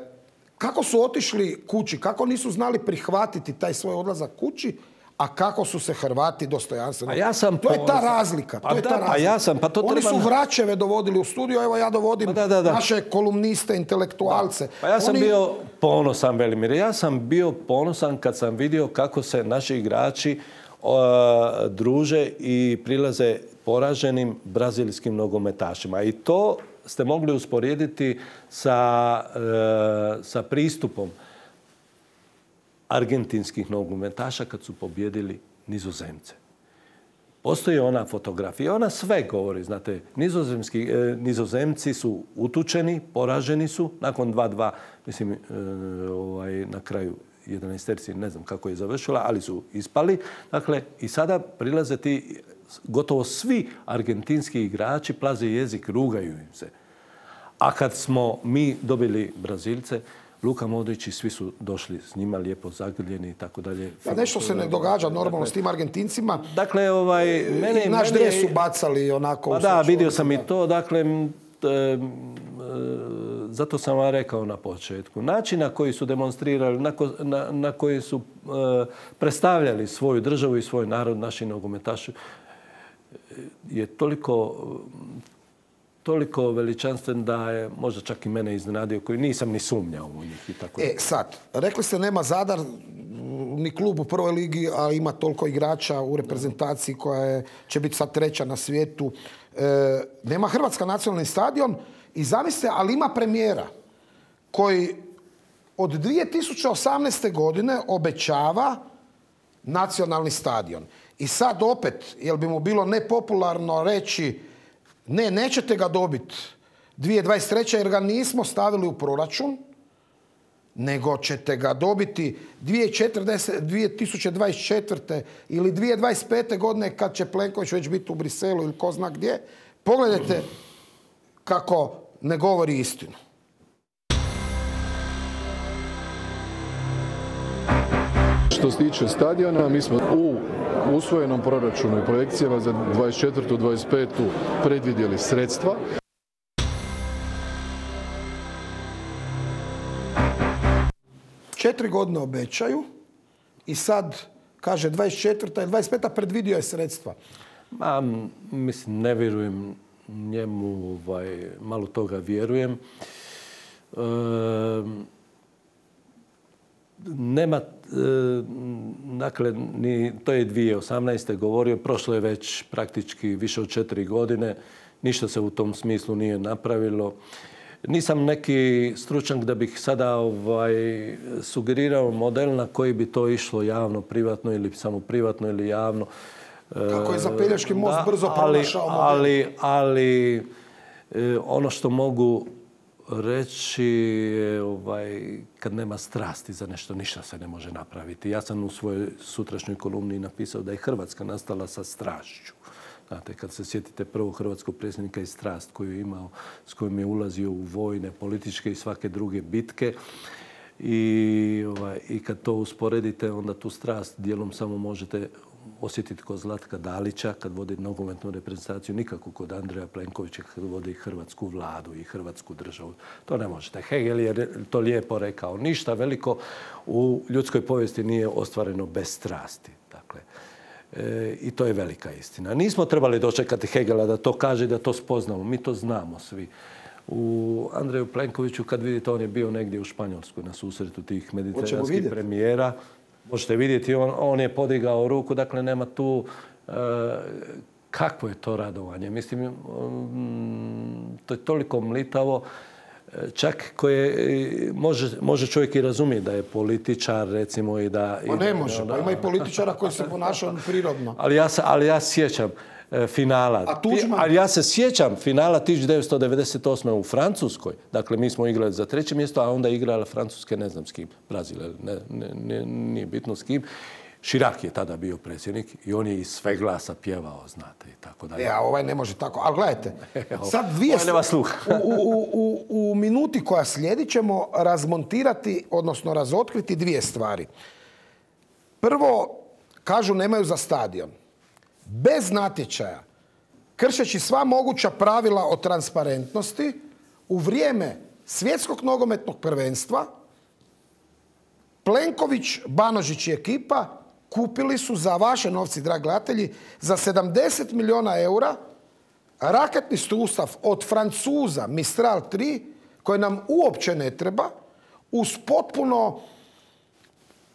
Speaker 1: kako su otišli kući, kako nisu znali prihvatiti taj svoj odlazak kući, a kako su se Hrvati dostojanstveno...
Speaker 2: Ja sam
Speaker 1: to je ta razlika.
Speaker 2: Pa
Speaker 1: to je
Speaker 2: da,
Speaker 1: ta razlika.
Speaker 2: Pa ja sam, pa to
Speaker 1: Oni
Speaker 2: treba...
Speaker 1: su Vračeve dovodili u studio, evo ja dovodim
Speaker 2: pa da, da, da.
Speaker 1: naše kolumniste, intelektualce.
Speaker 2: Da. Pa ja sam
Speaker 1: Oni...
Speaker 2: bio ponosan, Velimir. Ja sam bio ponosan kad sam vidio kako se naši igrači uh, druže i prilaze poraženim brazilskim nogometašima. I to ste mogli usporediti sa, uh, sa pristupom argentinskih nogometaša kad su pobjedili Nizozemce. Postoji ona fotografija, ona sve govori, znate, nizozemski, e, Nizozemci su utučeni, poraženi su, nakon dva dva, mislim, e, ovaj, na kraju jedanaesterci, ne znam kako je završila, ali su ispali. Dakle, i sada prilaze ti gotovo svi argentinski igrači, plaze jezik, rugaju im se. A kad smo mi dobili Brazilce, Luka Modrić i svi su došli s njima lijepo zagrljeni i tako dalje.
Speaker 1: Pa nešto se ne događa normalno dakle, s tim Argentincima.
Speaker 2: Dakle, ovaj, mene,
Speaker 1: I naš
Speaker 2: mene,
Speaker 1: dres su bacali onako...
Speaker 2: Pa da, vidio sam i to. Dakle, e, e, zato sam vam rekao na početku. Način na koji su demonstrirali, na, ko, na, na koji su e, predstavljali svoju državu i svoj narod, naši nogometaši, je toliko... toliko veličanstven da je možda čak i mene iznenadio, koji nisam ni sumnjao u njih. I tako.
Speaker 1: E, sad, rekli ste nema Zadar ni klub u prvoj ligi, a ima toliko igrača u reprezentaciji koja je, će biti sad treća na svijetu. E, nema Hrvatska nacionalni stadion i zamislite, ali ima premijera koji od dvije tisuće osamnaeste. godine obećava nacionalni stadion. I sad opet, jel bi mu bilo nepopularno reći ne, nećete ga dobiti dvije tisuće dvadeset treće. jer ga nismo stavili u proračun, nego ćete ga dobiti dvije tisuće dvadeset četvrte. ili dvije tisuće dvadeset pete. godine kad će Plenković već biti u Briselu ili ko zna gdje. Pogledajte kako ne govori istinu.
Speaker 11: Što se tiče stadiona, mi smo u usvojenom proračunu i projekcijama za dvadeset četvrtu dvadeset petu. predvidjeli sredstva.
Speaker 1: Četiri godine obećaju i sad kaže dvadeset četvrta i dvadeset peta. predvidio je sredstva.
Speaker 2: Ma, mislim, ne vjerujem njemu, ovaj, malo toga vjerujem. E, nema, e, dakle, ni, to je dvije tisuće osamnaeste. govorio, prošlo je već praktički više od četiri godine, ništa se u tom smislu nije napravilo. Nisam neki stručnjak da bih sada ovaj, sugerirao model na koji bi to išlo javno, privatno ili samo privatno ili javno.
Speaker 1: Kako je za Pelješki most
Speaker 2: da,
Speaker 1: brzo pronašao model.
Speaker 2: Ali, ali ono što mogu reći je ovaj, kad nema strasti za nešto, ništa se ne može napraviti. Ja sam u svojoj sutrašnjoj kolumni napisao da je Hrvatska nastala sa strašću. Znate, kad se sjetite prvog hrvatskog predsjednika i strast koju je imao, s kojim je ulazio u vojne, političke i svake druge bitke. I, ovaj, i kad to usporedite, onda tu strast dijelom samo možete osjetiti kod Zlatka Dalića kad vodi nogometnu reprezentaciju, nikako kod Andreja Plenkovića kad vodi hrvatsku vladu i hrvatsku državu. To ne možete. Hegel je to lijepo rekao. Ništa veliko u ljudskoj povijesti nije ostvareno bez strasti. Dakle, e, i to je velika istina. Nismo trebali dočekati Hegela da to kaže i da to spoznamo. Mi to znamo svi. U Andreju Plenkoviću, kad vidite, on je bio negdje u Španjolskoj na susretu tih mediteranskih premijera. Možete vidjeti, on, on je podigao ruku, dakle nema tu e, kakvo je to radovanje. Mislim, um, to je toliko mlitavo, čak koje može, može čovjek i razumjeti da je političar, recimo, i da...
Speaker 1: Pa ne može, da, pa ima i političara koji se ponašaju prirodno.
Speaker 2: Ali ja se, ali ja sjećam finala.
Speaker 1: A Tuđman?
Speaker 2: Ali ja se sjećam finala tisuću devetsto devedeset osme u Francuskoj. Dakle, mi smo igrali za treće mjesto, a onda igrala Francuske, ne znam s kim, Brazil, ne, ne, ne, nije bitno s kim. Chirac je tada bio predsjednik i on je iz sve glasa pjevao, znate, i tako dalje.
Speaker 1: Ja, ovaj ne može tako. Ali gledajte, sad dvije...
Speaker 2: Nema sluha.
Speaker 1: u, u, u, u minuti koja slijedi ćemo razmontirati, odnosno razotkriti dvije stvari. Prvo, kažu nemaju za stadion. Bez natječaja, kršeći sva moguća pravila o transparentnosti, u vrijeme svjetskog nogometnog prvenstva, Plenković, Banožić i ekipa kupili su za vaše novci, dragi gledatelji, za sedamdeset milijuna eura raketni sustav od Francuza Mistral tri, koji nam uopće ne treba, uz potpuno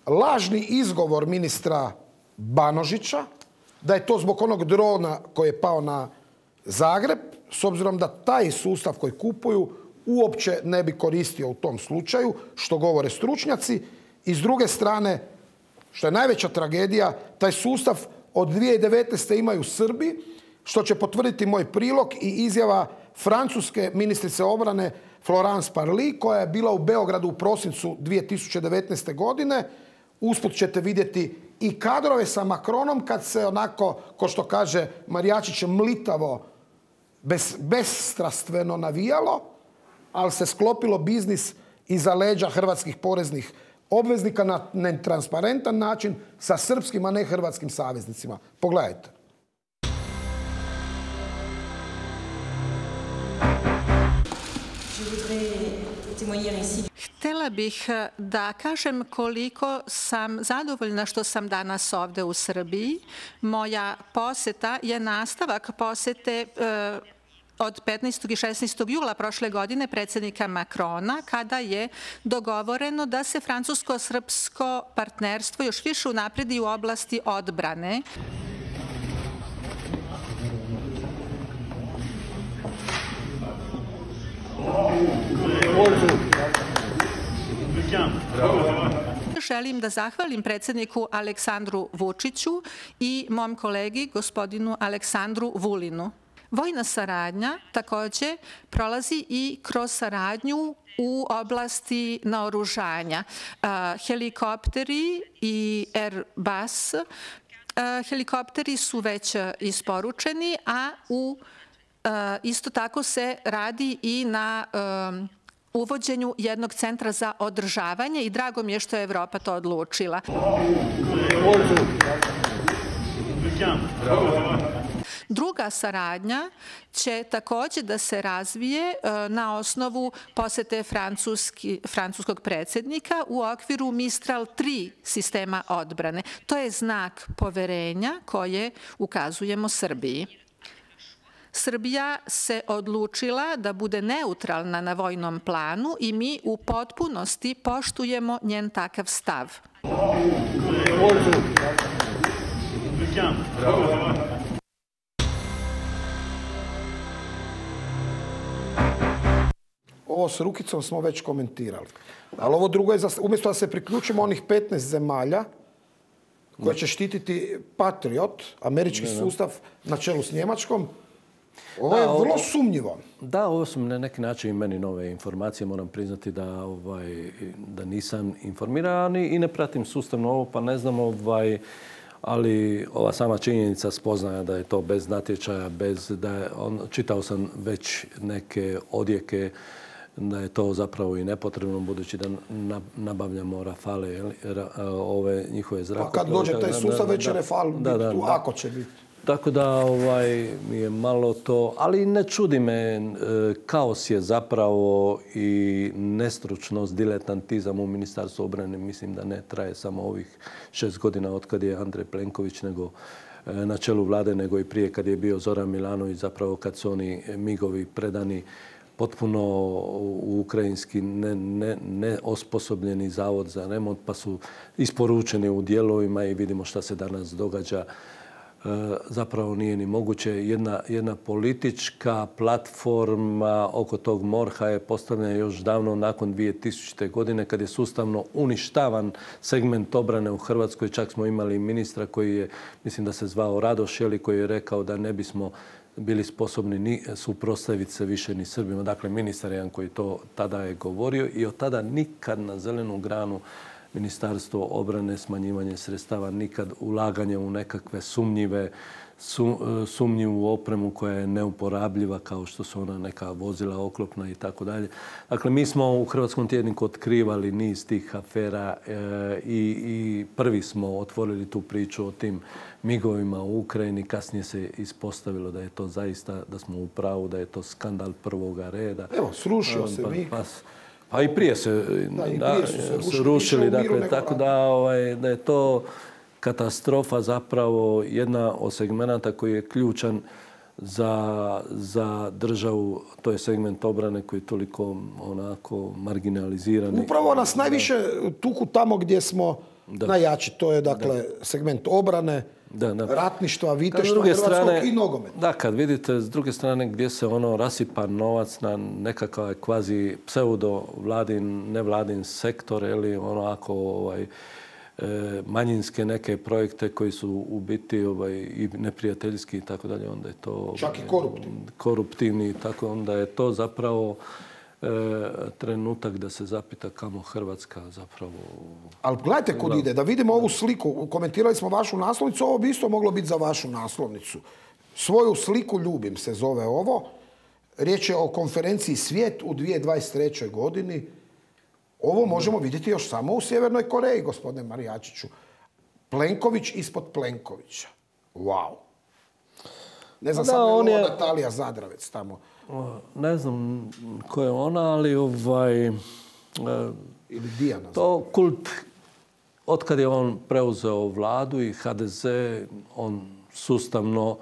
Speaker 1: lažni izgovor ministra Banožića, da je to zbog onog drona koji je pao na Zagreb, s obzirom da taj sustav koji kupuju uopće ne bi koristio u tom slučaju, što govore stručnjaci. I s druge strane, što je najveća tragedija, taj sustav od dvije tisuće devetnaeste. imaju Srbi, što će potvrditi moj prilog i izjava francuske ministrice obrane Florence Parly, koja je bila u Beogradu u prosincu dvije tisuće devetnaeste. godine. Usput ćete vidjeti i kadrove sa Macronom kad se onako, ko što kaže Marijačić, mlitavo, bez, bezstrastveno navijalo, ali se sklopilo biznis iza leđa hrvatskih poreznih obveznika na netransparentan način sa srpskim, a ne hrvatskim saveznicima. Pogledajte.
Speaker 12: Htjela bih da kažem koliko sam zadovoljna što sam danas ovdje u Srbiji. Moja posjeta je nastavak posjete e, od petnaestog i šesnaestog jula prošle godine predsjednika Macrona, kada je dogovoreno da se francusko-srpsko partnerstvo još više unapredi u oblasti odbrane. Želim da zahvalim predsjedniku Aleksandru Vučiću i mom kolegi gospodinu Aleksandru Vulinu. Vojna saradnja također prolazi i kroz saradnju u oblasti naoružanja. Helikopteri i Airbus helikopteri su već isporučeni, a u isto tako se radi i na uvođenju jednog centra za održavanje i drago mi je što je Evropa to odlučila. Druga saradnja će također da se razvije na osnovu posjete francuskog predsjednika u okviru Mistral tri sistema odbrane. To je znak poverenja koje ukazujemo Srbiji. Srbija se odlučila da bude neutralna na vojnom planu i mi u potpunosti poštujemo njen takav stav.
Speaker 1: ovo s Rukicom smo već komentirali. Ali ovo drugo je, umjesto da se priključimo onih petnaest zemalja koje će štititi Patriot, američki sustav na čelu s Njemačkom, ovo je vrlo sumnjivo.
Speaker 2: Da, ovo su na neki način i meni nove informacije. Moram priznati da, ovaj, da nisam informiran i ne pratim sustavno ovo, pa ne znam, ovaj, ali ova sama činjenica spoznaja da je to bez natječaja, bez da je on, čitao sam već neke odjeke da je to zapravo i nepotrebno, budući da nabavljamo Rafale, ove njihove zrakoplove.
Speaker 1: Pa kad dođe taj sustav, već je Rafal biti tu, ako će biti.
Speaker 2: Tako da ovaj, mi je malo to, ali ne čudi me, kaos je zapravo i nestručnost, diletantizam u Ministarstvu obrane. Mislim da ne traje samo ovih šest godina od kad je Andrej Plenković nego na čelu vlade, nego i prije kad je bio Zoran Milanović, zapravo kad su oni migovi predani potpuno u ukrajinski neosposobljeni zavod za remont, pa su isporučeni u dijelovima i vidimo šta se danas događa. Zapravo nije ni moguće. Jedna, jedna politička platforma oko tog morha je postavljena još davno nakon dvije tisućite. godine kad je sustavno uništavan segment obrane u Hrvatskoj. Čak smo imali ministra koji je, mislim da se zvao Radoš, koji je rekao da ne bismo bili sposobni ni suprotstaviti se više ni Srbima. Dakle, ministar jedan koji to tada je govorio i od tada nikad na zelenu granu Ministarstvo obrane, smanjivanje sredstava, nikad ulaganje u nekakve sumnjive, sumnjivu opremu koja je neuporabljiva, kao što su ona neka vozila oklopna i tako dalje. Dakle, mi smo u Hrvatskom tjedniku otkrivali niz tih afera i, i prvi smo otvorili tu priču o tim migovima u Ukrajini. Kasnije se ispostavilo da je to zaista, da smo u pravu, da je to skandal prvoga reda.
Speaker 1: Evo, srušio se mig.
Speaker 2: Pa, Pa i prije se, da, i prije su se rušili, rušili dakle, tako da, ovaj, da je to katastrofa zapravo jedna od segmenata koji je ključan za, za državu. To je segment obrane koji je toliko onako marginaliziran.
Speaker 1: Upravo nas najviše tuku tamo gdje smo da. najjači. To je dakle da. segment obrane, Da, da. ratništva, viteštva hrvatskog strane, i nogometa.
Speaker 2: Da, kad vidite s druge strane gdje se ono rasipa novac na nekakav kvazi pseudo vladin, nevladin sektor ili ono ako ovaj, e, manjinske neke projekte koji su u biti ovaj, i neprijateljski i tako dalje, onda je to
Speaker 1: čak i koruptivni.
Speaker 2: koruptivni, tako onda je to zapravo trenutak da se zapita kamo Hrvatska zapravo...
Speaker 1: Ali gledajte kud ide, da vidimo ovu sliku. Komentirali smo vašu naslovnicu, ovo bi isto moglo biti za vašu naslovnicu. Svoju sliku ljubim se zove ovo. Riječ je o konferenciji Svijet u dvije tisuće dvadeset trećoj. godini. Ovo možemo vidjeti još samo u Sjevernoj Koreji, gospodine Marijačiću. Plenković ispod Plenkovića. Wow. Ne znam, da, samo je ovo Natalija Zadravec tamo.
Speaker 2: Ne znam ko je ona, ali ovaj...
Speaker 1: Ili Dijana.
Speaker 2: To kult, otkad je on preuzeo vladu i ha de ze, on sustavno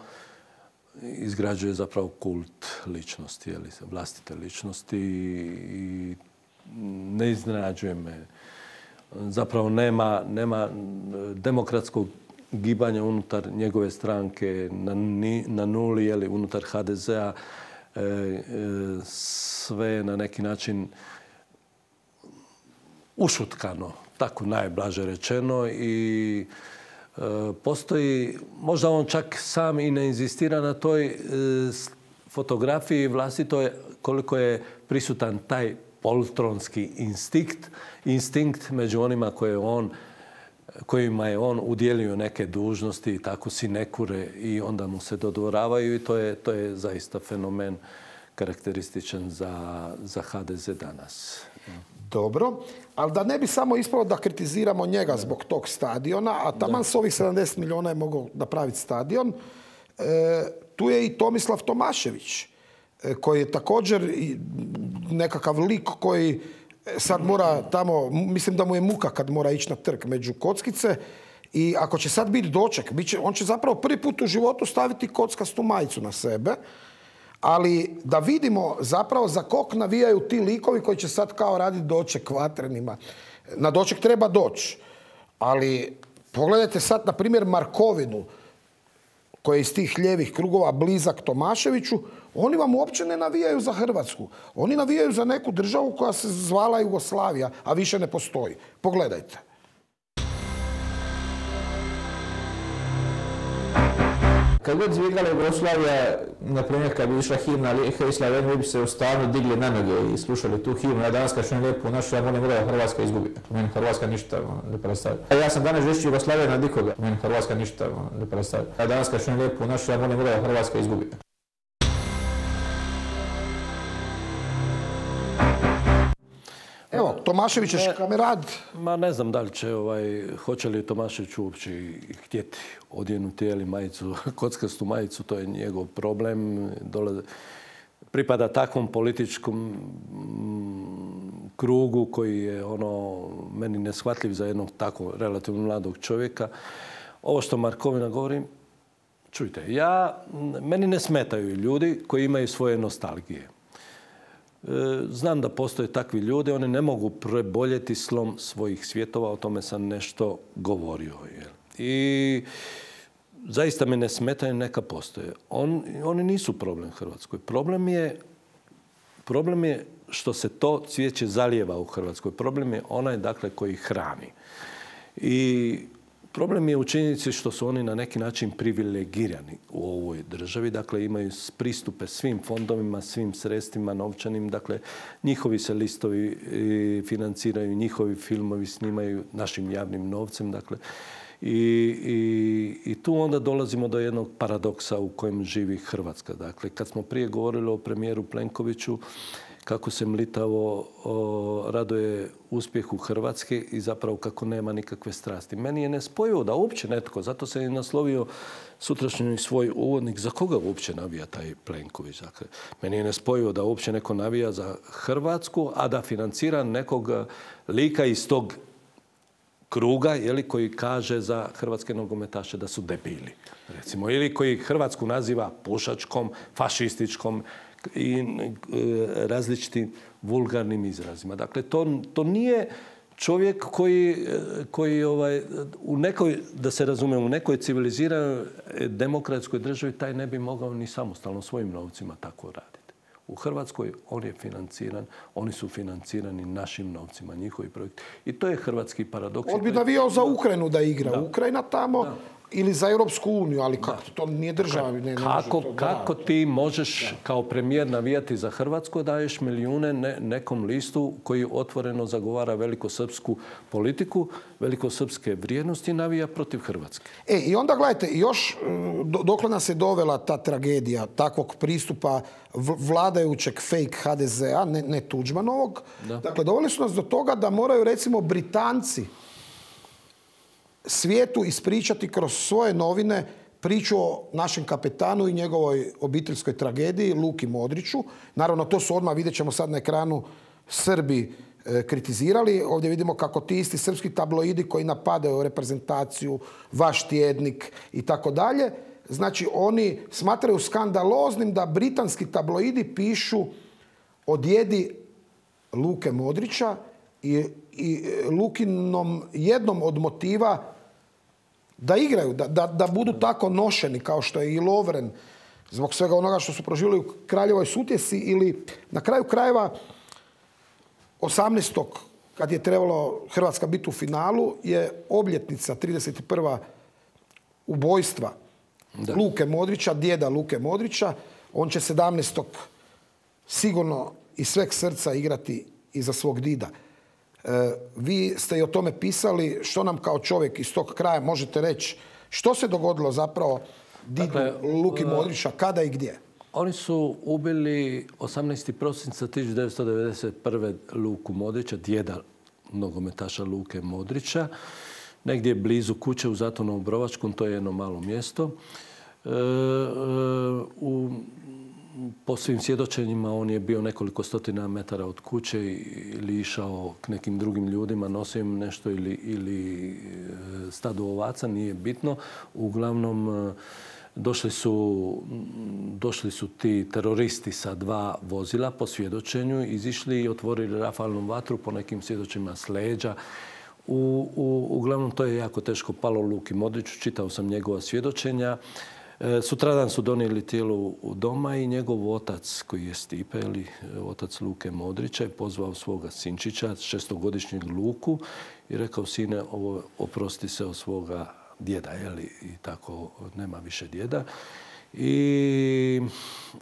Speaker 2: izgrađuje zapravo kult ličnosti, jeli, vlastite ličnosti i ne iznenađuje me. Zapravo nema, nema demokratskog gibanja unutar njegove stranke na, na nuli, jeli, unutar ha de zea. E, e, sve na neki način ušutkano, tako najblaže rečeno i e, postoji, možda on čak sam i ne inzistira na toj e, fotografiji vlastitoj koliko je prisutan taj poltronski instinkt, instinkt među onima koje on kojima je on udjelio neke dužnosti i tako sinekure i onda mu se dodvoravaju i to je, to je zaista fenomen karakterističan za, za ha de ze danas.
Speaker 1: Dobro, ali da ne bi samo ispalo da kritiziramo njega zbog tog stadiona, a taman s ovih sedamdeset milijuna je mogao napraviti stadion, e, tu je i Tomislav Tomašević, e, koji je također nekakav lik koji sad mora tamo, mislim da mu je muka kad mora ići na trg među kockice i ako će sad biti doček, bit će, on će zapravo prvi put u životu staviti kockastu majicu na sebe, ali da vidimo zapravo za kog navijaju ti likovi koji će sad kao raditi doček vatrenima. Na doček treba doći, ali pogledajte sad na primjer Markovinu, koji je iz tih lijevih krugova blizak Tomaševiću, Oni vam uopće ne navijaju za Hrvatsku. Oni navijaju za neku državu koja se zvala Jugoslavija, a više ne postoji. Pogledajte.
Speaker 13: Kad god izvigala Jugoslavija, na primjer kad bi išla himna Lijeha i Slaveni, vi bi se u stanu digli na noge i slušali tu himnu. Ja danas kad čujem lijepu našu, ja molim da Hrvatska izgubi. Meni Hrvatska ništa ne predstavlja. Ja sam danas žešći Jugoslavija na nikoga. Meni Hrvatska ništa ne predstavlja. Ja danas kad čujem lijepu našu, ja molim da Hrvatska izgubi.
Speaker 1: Evo, Tomašević je kamerad.
Speaker 2: Ma ne znam da li će, ovaj, hoće li Tomašević uopće htjeti odjenuti ili majicu, kockastu majicu, to je njegov problem. Dole, pripada takvom političkom krugu koji je ono meni neshvatljiv za jednog tako relativno mladog čovjeka. Ovo što Markovina govori, čujte, ja, meni ne smetaju ljudi koji imaju svoje nostalgije. Znam da postoje takvi ljudi, oni ne mogu preboljeti slom svojih svjetova, o tome sam nešto govorio. I zaista me ne smetaju, neka postoje. On, oni nisu problem Hrvatskoj. Problem je, problem je što se to cvijeće zalijeva u Hrvatskoj. Problem je onaj, dakle, koji hrani. I problem je u činjenici što su oni na neki način privilegirani u ovoj državi. Dakle, imaju pristupe svim fondovima, svim sredstvima novčanim. Dakle, njihovi se listovi financiraju, njihovi filmovi snimaju našim javnim novcem. Dakle, i, i, i tu onda dolazimo do jednog paradoksa u kojem živi Hrvatska. Dakle, kad smo prije govorili o premijeru Plenkoviću, kako se mlitavo o, raduje uspjehu Hrvatske i zapravo kako nema nikakve strasti. Meni je nespojivo da uopće netko, zato se je naslovio sutrašnji svoj uvodnik, za koga uopće navija taj Plenković. Dakle, meni je nespojivo da uopće neko navija za Hrvatsku, a da financira nekog lika iz tog kruga, jeli, koji kaže za hrvatske nogometaše da su debili, recimo, ili koji Hrvatsku naziva pušačkom, fašističkom i različitim vulgarnim izrazima. Dakle, to, to nije čovjek koji, koji ovaj, u nekoj, da se razume, u nekoj civiliziranoj demokratskoj državi taj ne bi mogao ni samostalno svojim novcima tako raditi. U Hrvatskoj on je financiran, oni su financirani našim novcima, njihovi projekti. I to je hrvatski paradoks.
Speaker 1: On bi navijao za Ukrajinu da igra. Da. Ukrajina tamo da. Ili za Europsku uniju, ali kako to nije država. Ne, ne
Speaker 2: kako
Speaker 1: to
Speaker 2: kako ti možeš da. kao premijer navijati za Hrvatsku, daješ milijune ne, nekom listu koji otvoreno zagovara velikosrpsku politiku, velikosrpske vrijednosti i navija protiv Hrvatske.
Speaker 1: E, i onda gledajte, još dokle nas je dovela ta tragedija takvog pristupa vladajućeg fake ha de zea, ne, ne Tuđmanovog. Da. Dakle, doveli su nas do toga da moraju, recimo, Britanci svijetu ispričati kroz svoje novine priču o našem kapetanu i njegovoj obiteljskoj tragediji, Luki Modriću. Naravno, to su odmah, vidjet ćemo sad na ekranu, Srbi e, kritizirali. Ovdje vidimo kako ti isti srpski tabloidi koji napadaju reprezentaciju, vaš tjednik i tako dalje. Znači, oni smatraju skandaloznim da britanski tabloidi pišu o djedi Luke Modrića i, i Lukinom jednom od motiva da igraju, da, da, da budu tako nošeni kao što je i Lovren zbog svega onoga što su proživjeli u Kraljevoj Sutjesi ili na kraju krajeva osamnaestog kad je trebalo Hrvatska biti u finalu je obljetnica trideset prva ubojstva da. Luke Modrića, djeda Luke Modrića. On će sedamnaestog sigurno iz sveg srca igrati i za svog dida. E, vi ste i o tome pisali. Što nam kao čovjek iz tog kraja možete reći? Što se dogodilo zapravo didu dakle, Luki Modrića, kada i gdje?
Speaker 2: Oni su ubili osamnaestog prosinca tisuću devetsto devedeset prve Luku Modrića, djeda nogometaša Luke Modrića, negdje blizu kuće u Zatonu Obrovačkom, to je jedno malo mjesto. E, e, u Po svim svjedočenjima on je bio nekoliko stotina metara od kuće ili išao k nekim drugim ljudima, nosio im nešto ili, ili stado ovaca, nije bitno. Uglavnom, došli su, došli su ti teroristi sa dva vozila po svjedočenju, izišli i otvorili rafalnu vatru po nekim svjedočenjima s leđa. U, u, uglavnom, to je jako teško palo Luki Modriću, čitao sam njegova svjedočenja. Sutradan su donijeli tijelo u doma i njegov otac, koji je Stipe, ili otac Luke Modrića, je pozvao svoga sinčića, šestogodišnjeg Luku, i rekao: sine, ovo oprosti se od svoga djeda, jeli, i tako nema više djeda. I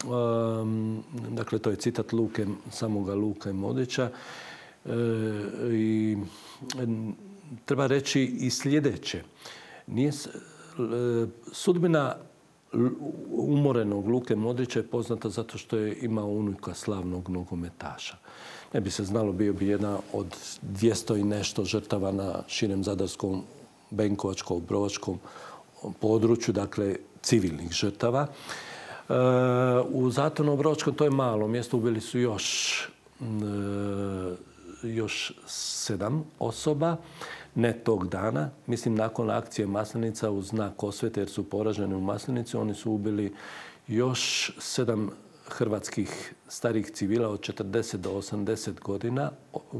Speaker 2: um, dakle, to je citat Luke, samoga Luke Modrića. E, i treba reći i sljedeće. Nije, sudbina umorenog Luke Modrića je poznata zato što je imao unuka slavnog nogometaša. Ne bi se znalo, bio bi jedna od dvjesto i nešto žrtava na širem zadarskom, benkovačkom, obrovačkom području, dakle civilnih žrtava. E, u Zatorno-obrovačkom, to je malo mjesto, ubili su još, e, još sedam osoba. Ne tog dana, mislim nakon akcije Maslenica u znak osvete, jer su poraženi u Maslenici, oni su ubili još sedam hrvatskih starih civila od četrdeset do osamdeset godina,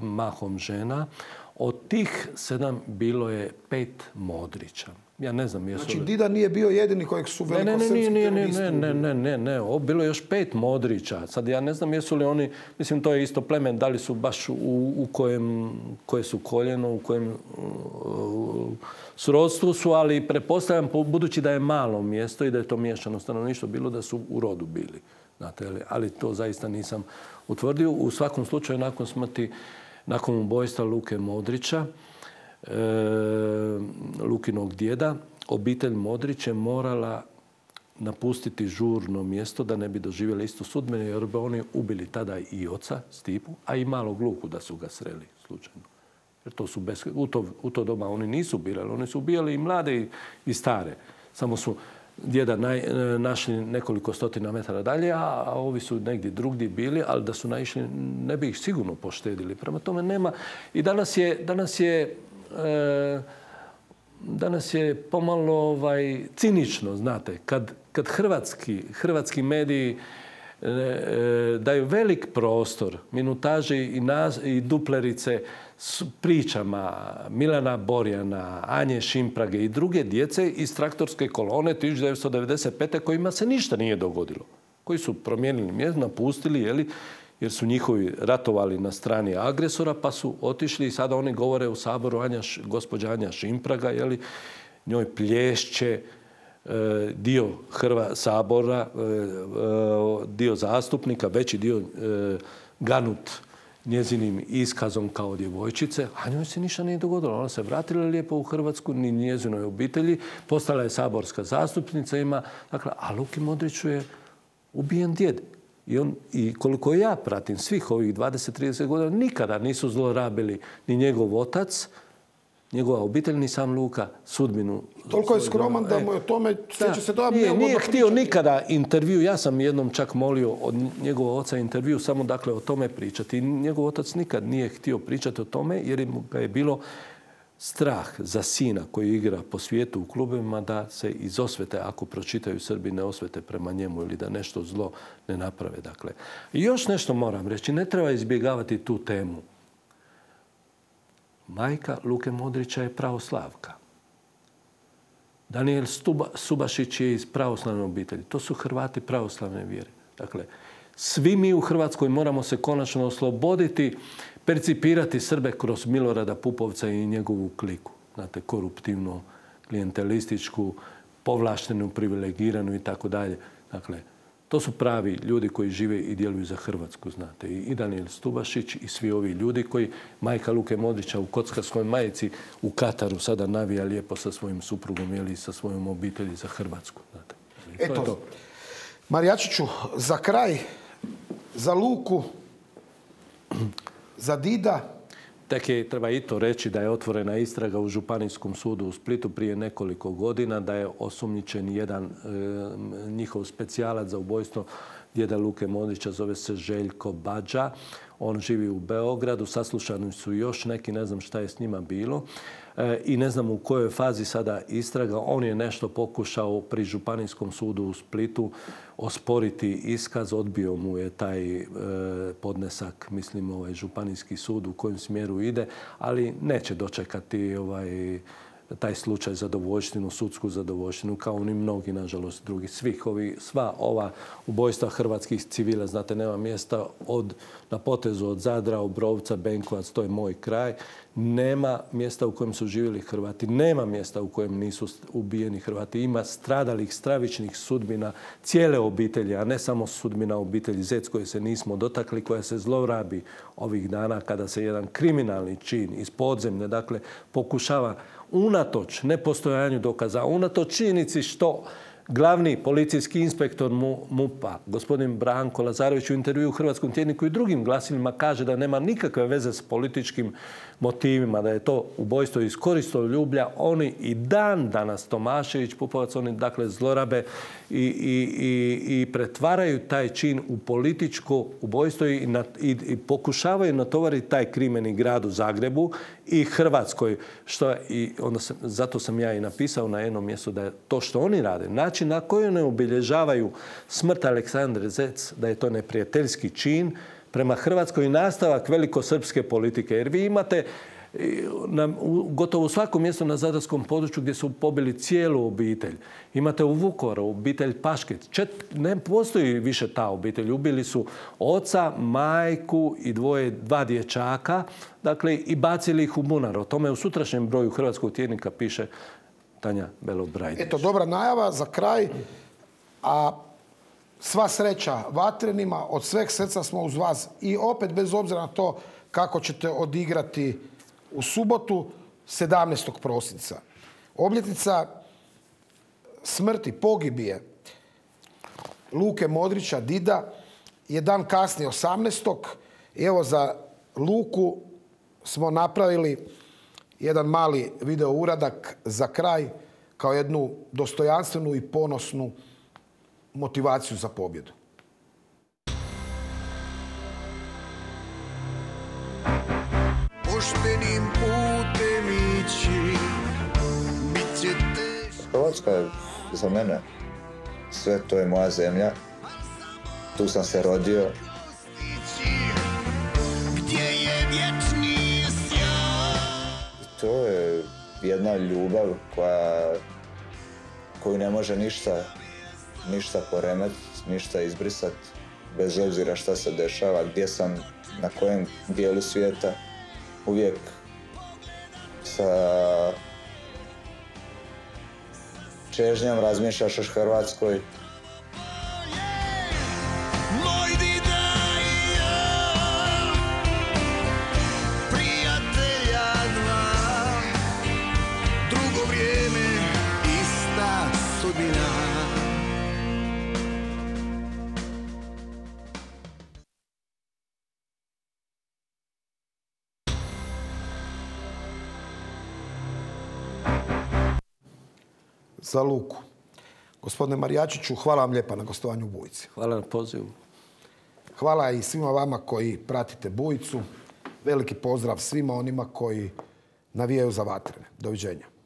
Speaker 2: mahom žena. Od tih sedam bilo je pet Modrića. Ja ne znam jesu li...
Speaker 1: Znači, Dida nije bio jedini kojeg su velikosrpski teroristi ubili?
Speaker 2: Ne, ne, ne, ne. Bilo je još pet Modrića. Sad ja ne znam jesu li oni, mislim, to je isto plemen, da li su baš u, u kojem, koje su koljeno, u kojem uh, srodstvu su, ali pretpostavljam, budući da je malo mjesto i da je to miješano stanovništvo, bilo da su u rodu bili. Znate, ali to zaista nisam utvrdio. U svakom slučaju, nakon smrti, nakon ubojstva Luke Modrića, E, Lukinog djeda, obitelj Modrić je morala napustiti žurno mjesto da ne bi doživjeli istu sudbinu, jer bi oni ubili tada i oca Stipu, a i malog Luku da su ga sreli slučajno. Jer to su bez, u, to, u to doba oni nisu ubijali, oni su ubijali i mlade i, i stare. Samo su djeda naj, našli nekoliko stotina metara dalje, a, a ovi su negdje drugdje bili, ali da su naišli, ne bi ih sigurno poštedili. Prema tome nema. I danas je, danas je E, danas je pomalo ovaj, cinično, znate, kad, kad hrvatski, hrvatski mediji e, e, daju velik prostor minutaži i, nas, i duplerice s pričama Milana Borjana, Anje Šimprage i druge djece iz traktorske kolone tisuću devetsto devedeset pete kojima se ništa nije dogodilo. Koji su promijenili mjesto, napustili, jeli, jer su njihovi ratovali na strani agresora, pa su otišli i sada oni govore u Saboru, Anja, gospođa Anja Šimpraga, jeli, njoj plješće e, dio Hrva Sabora, e, e, dio zastupnika, veći dio e, ganut njezinim iskazom kao djevojčice, a njoj se ništa nije dogodilo. Ona se vratila lijepo u Hrvatsku, ni njezinoj obitelji, postala je saborska zastupnica, ima, dakle, a Luki Modriću je ubijen djed. I, on, I koliko ja pratim svih ovih dvadeset do trideset godina, nikada nisu zlorabili ni njegov otac, njegova obitelj, ni sam Luka sudbinu.
Speaker 1: Toliko je skroman da mu je o tome sjeća se da
Speaker 2: nije, nije htio nikada intervju. Ja sam jednom čak molio od njegovog oca intervju samo dakle o tome pričati. I njegov otac nikad nije htio pričati o tome jer mu ga je bilo strah za sina koji igra po svijetu u klubovima da se iz osvete, ako pročitaju Srbi, ne osvete prema njemu ili da nešto zlo ne naprave. Dakle. I još nešto moram reći, ne treba izbjegavati tu temu. Majka Luke Modrića je pravoslavka. Daniel Stuba, Subašić je iz pravoslavne obitelji. To su Hrvati pravoslavne vjere. Dakle, svi mi u Hrvatskoj moramo se konačno osloboditi, percipirati Srbe kroz Milorada Pupovca i njegovu kliku. Znate, koruptivnu, klijentelističku, povlaštenu, privilegiranu i tako dalje. Dakle, to su pravi ljudi koji žive i djeluju za Hrvatsku, znate. I Daniel Stubašić i svi ovi ljudi koji majka Luke Modrića u kockarskoj majici u Kataru sada navija lijepo sa svojim suprugom ili sa svojom obitelji za Hrvatsku. Znate.
Speaker 1: Eto,
Speaker 2: to je to.
Speaker 1: Marijačiću, za kraj, za Luku, za Dida.
Speaker 2: Tek je, treba i to reći, da je otvorena istraga u Županijskom sudu u Splitu prije nekoliko godina, da je osumnjičen jedan e, njihov specijalac za ubojstvo djeda Luke Modrića, zove se Željko Badža. On živi u Beogradu, saslušani su još neki, ne znam šta je s njima bilo. E, I ne znam u kojoj fazi sada istraga. On je nešto pokušao pri Županijskom sudu u Splitu osporiti iskaz. Odbio mu je taj e, podnesak, mislim, ovaj Županijski sud u kojem smjeru ide, ali neće dočekati ovaj taj slučaj zadovoljštinu, sudsku zadovoljštinu, kao ni mnogi, nažalost, drugi. Svih ovi, sva ova ubojstva hrvatskih civila, znate, nema mjesta od, na potezu od Zadra, Obrovca, Benkovac, to je moj kraj. Nema mjesta u kojem su živjeli Hrvati, nema mjesta u kojem nisu ubijeni Hrvati. Ima stradalih, stravičnih sudbina cijele obitelji, a ne samo sudbina obitelji Zec koje se nismo dotakli, koja se zlorabi ovih dana kada se jedan kriminalni čin iz podzemne, dakle, pokušava unatoč nepostojanju dokaza, unatoč činjenici što glavni policijski inspektor MUP-a, gospodin Branko Lazarević, u intervju u Hrvatskom tjedniku i drugim glasilima kaže da nema nikakve veze s političkim motivima, da je to ubojstvo iz koristoljublja. Oni i dan danas, Tomašević, Pupovac, oni dakle zlorabe i, i, i, i pretvaraju taj čin u političko ubojstvo i, na, i, i pokušavaju natovariti taj krimeni grad u Zagrebu i Hrvatskoj. Što, i onda sam, zato sam ja i napisao na jednom mjestu da je to što oni rade, način na koji ne obilježavaju smrt Aleksandre Zec, da je to neprijateljski čin prema Hrvatskoj i nastavak velikosrpske politike. Jer vi imate na, u, gotovo u svakom mjestu na zadarskom području gdje su pobili cijelu obitelj. Imate u Vukovaru obitelj Pašket. Čet, ne postoji više ta obitelj. Ubili su oca, majku i dvoje, dva dječaka, dakle, i bacili ih u bunar. O tome u sutrašnjem broju Hrvatskog tjednika piše Tanja Belot-Brajdić.
Speaker 1: Eto, dobra najava za kraj. A sva sreća Vatrenima, od sveg srca smo uz vas i opet bez obzira na to kako ćete odigrati u subotu sedamnaestog prosinca. Obljetnica smrti, pogibije Luke Modrića, Dida, je dan kasnije osamnaestog I evo za Luku smo napravili jedan mali video uradak za kraj kao jednu dostojanstvenu i ponosnu motivaciju za pobjedu.
Speaker 14: Poštenim putem ići, bit će teško.
Speaker 15: Hrvatska je za mene sve, to je moja zemlja. Tu sam se rodio.
Speaker 14: Gdje je vječni sjaj.
Speaker 15: To je jedna ljubav koja, koju ne može ništa, ništa poremetiti, ništa izbrisati, bez obzira šta se dešava, gdje sam, na kojem dijelu svijeta. Uvijek sa čežnjom razmišljaš o Hrvatskoj.
Speaker 1: Za Luku. Gospodine Marijačiću, hvala vam lijepa na gostovanju u Bujici.
Speaker 2: Hvala na pozivu.
Speaker 1: Hvala i svima vama koji pratite Bujicu. Veliki pozdrav svima onima koji navijaju za Vatrene. Doviđenja.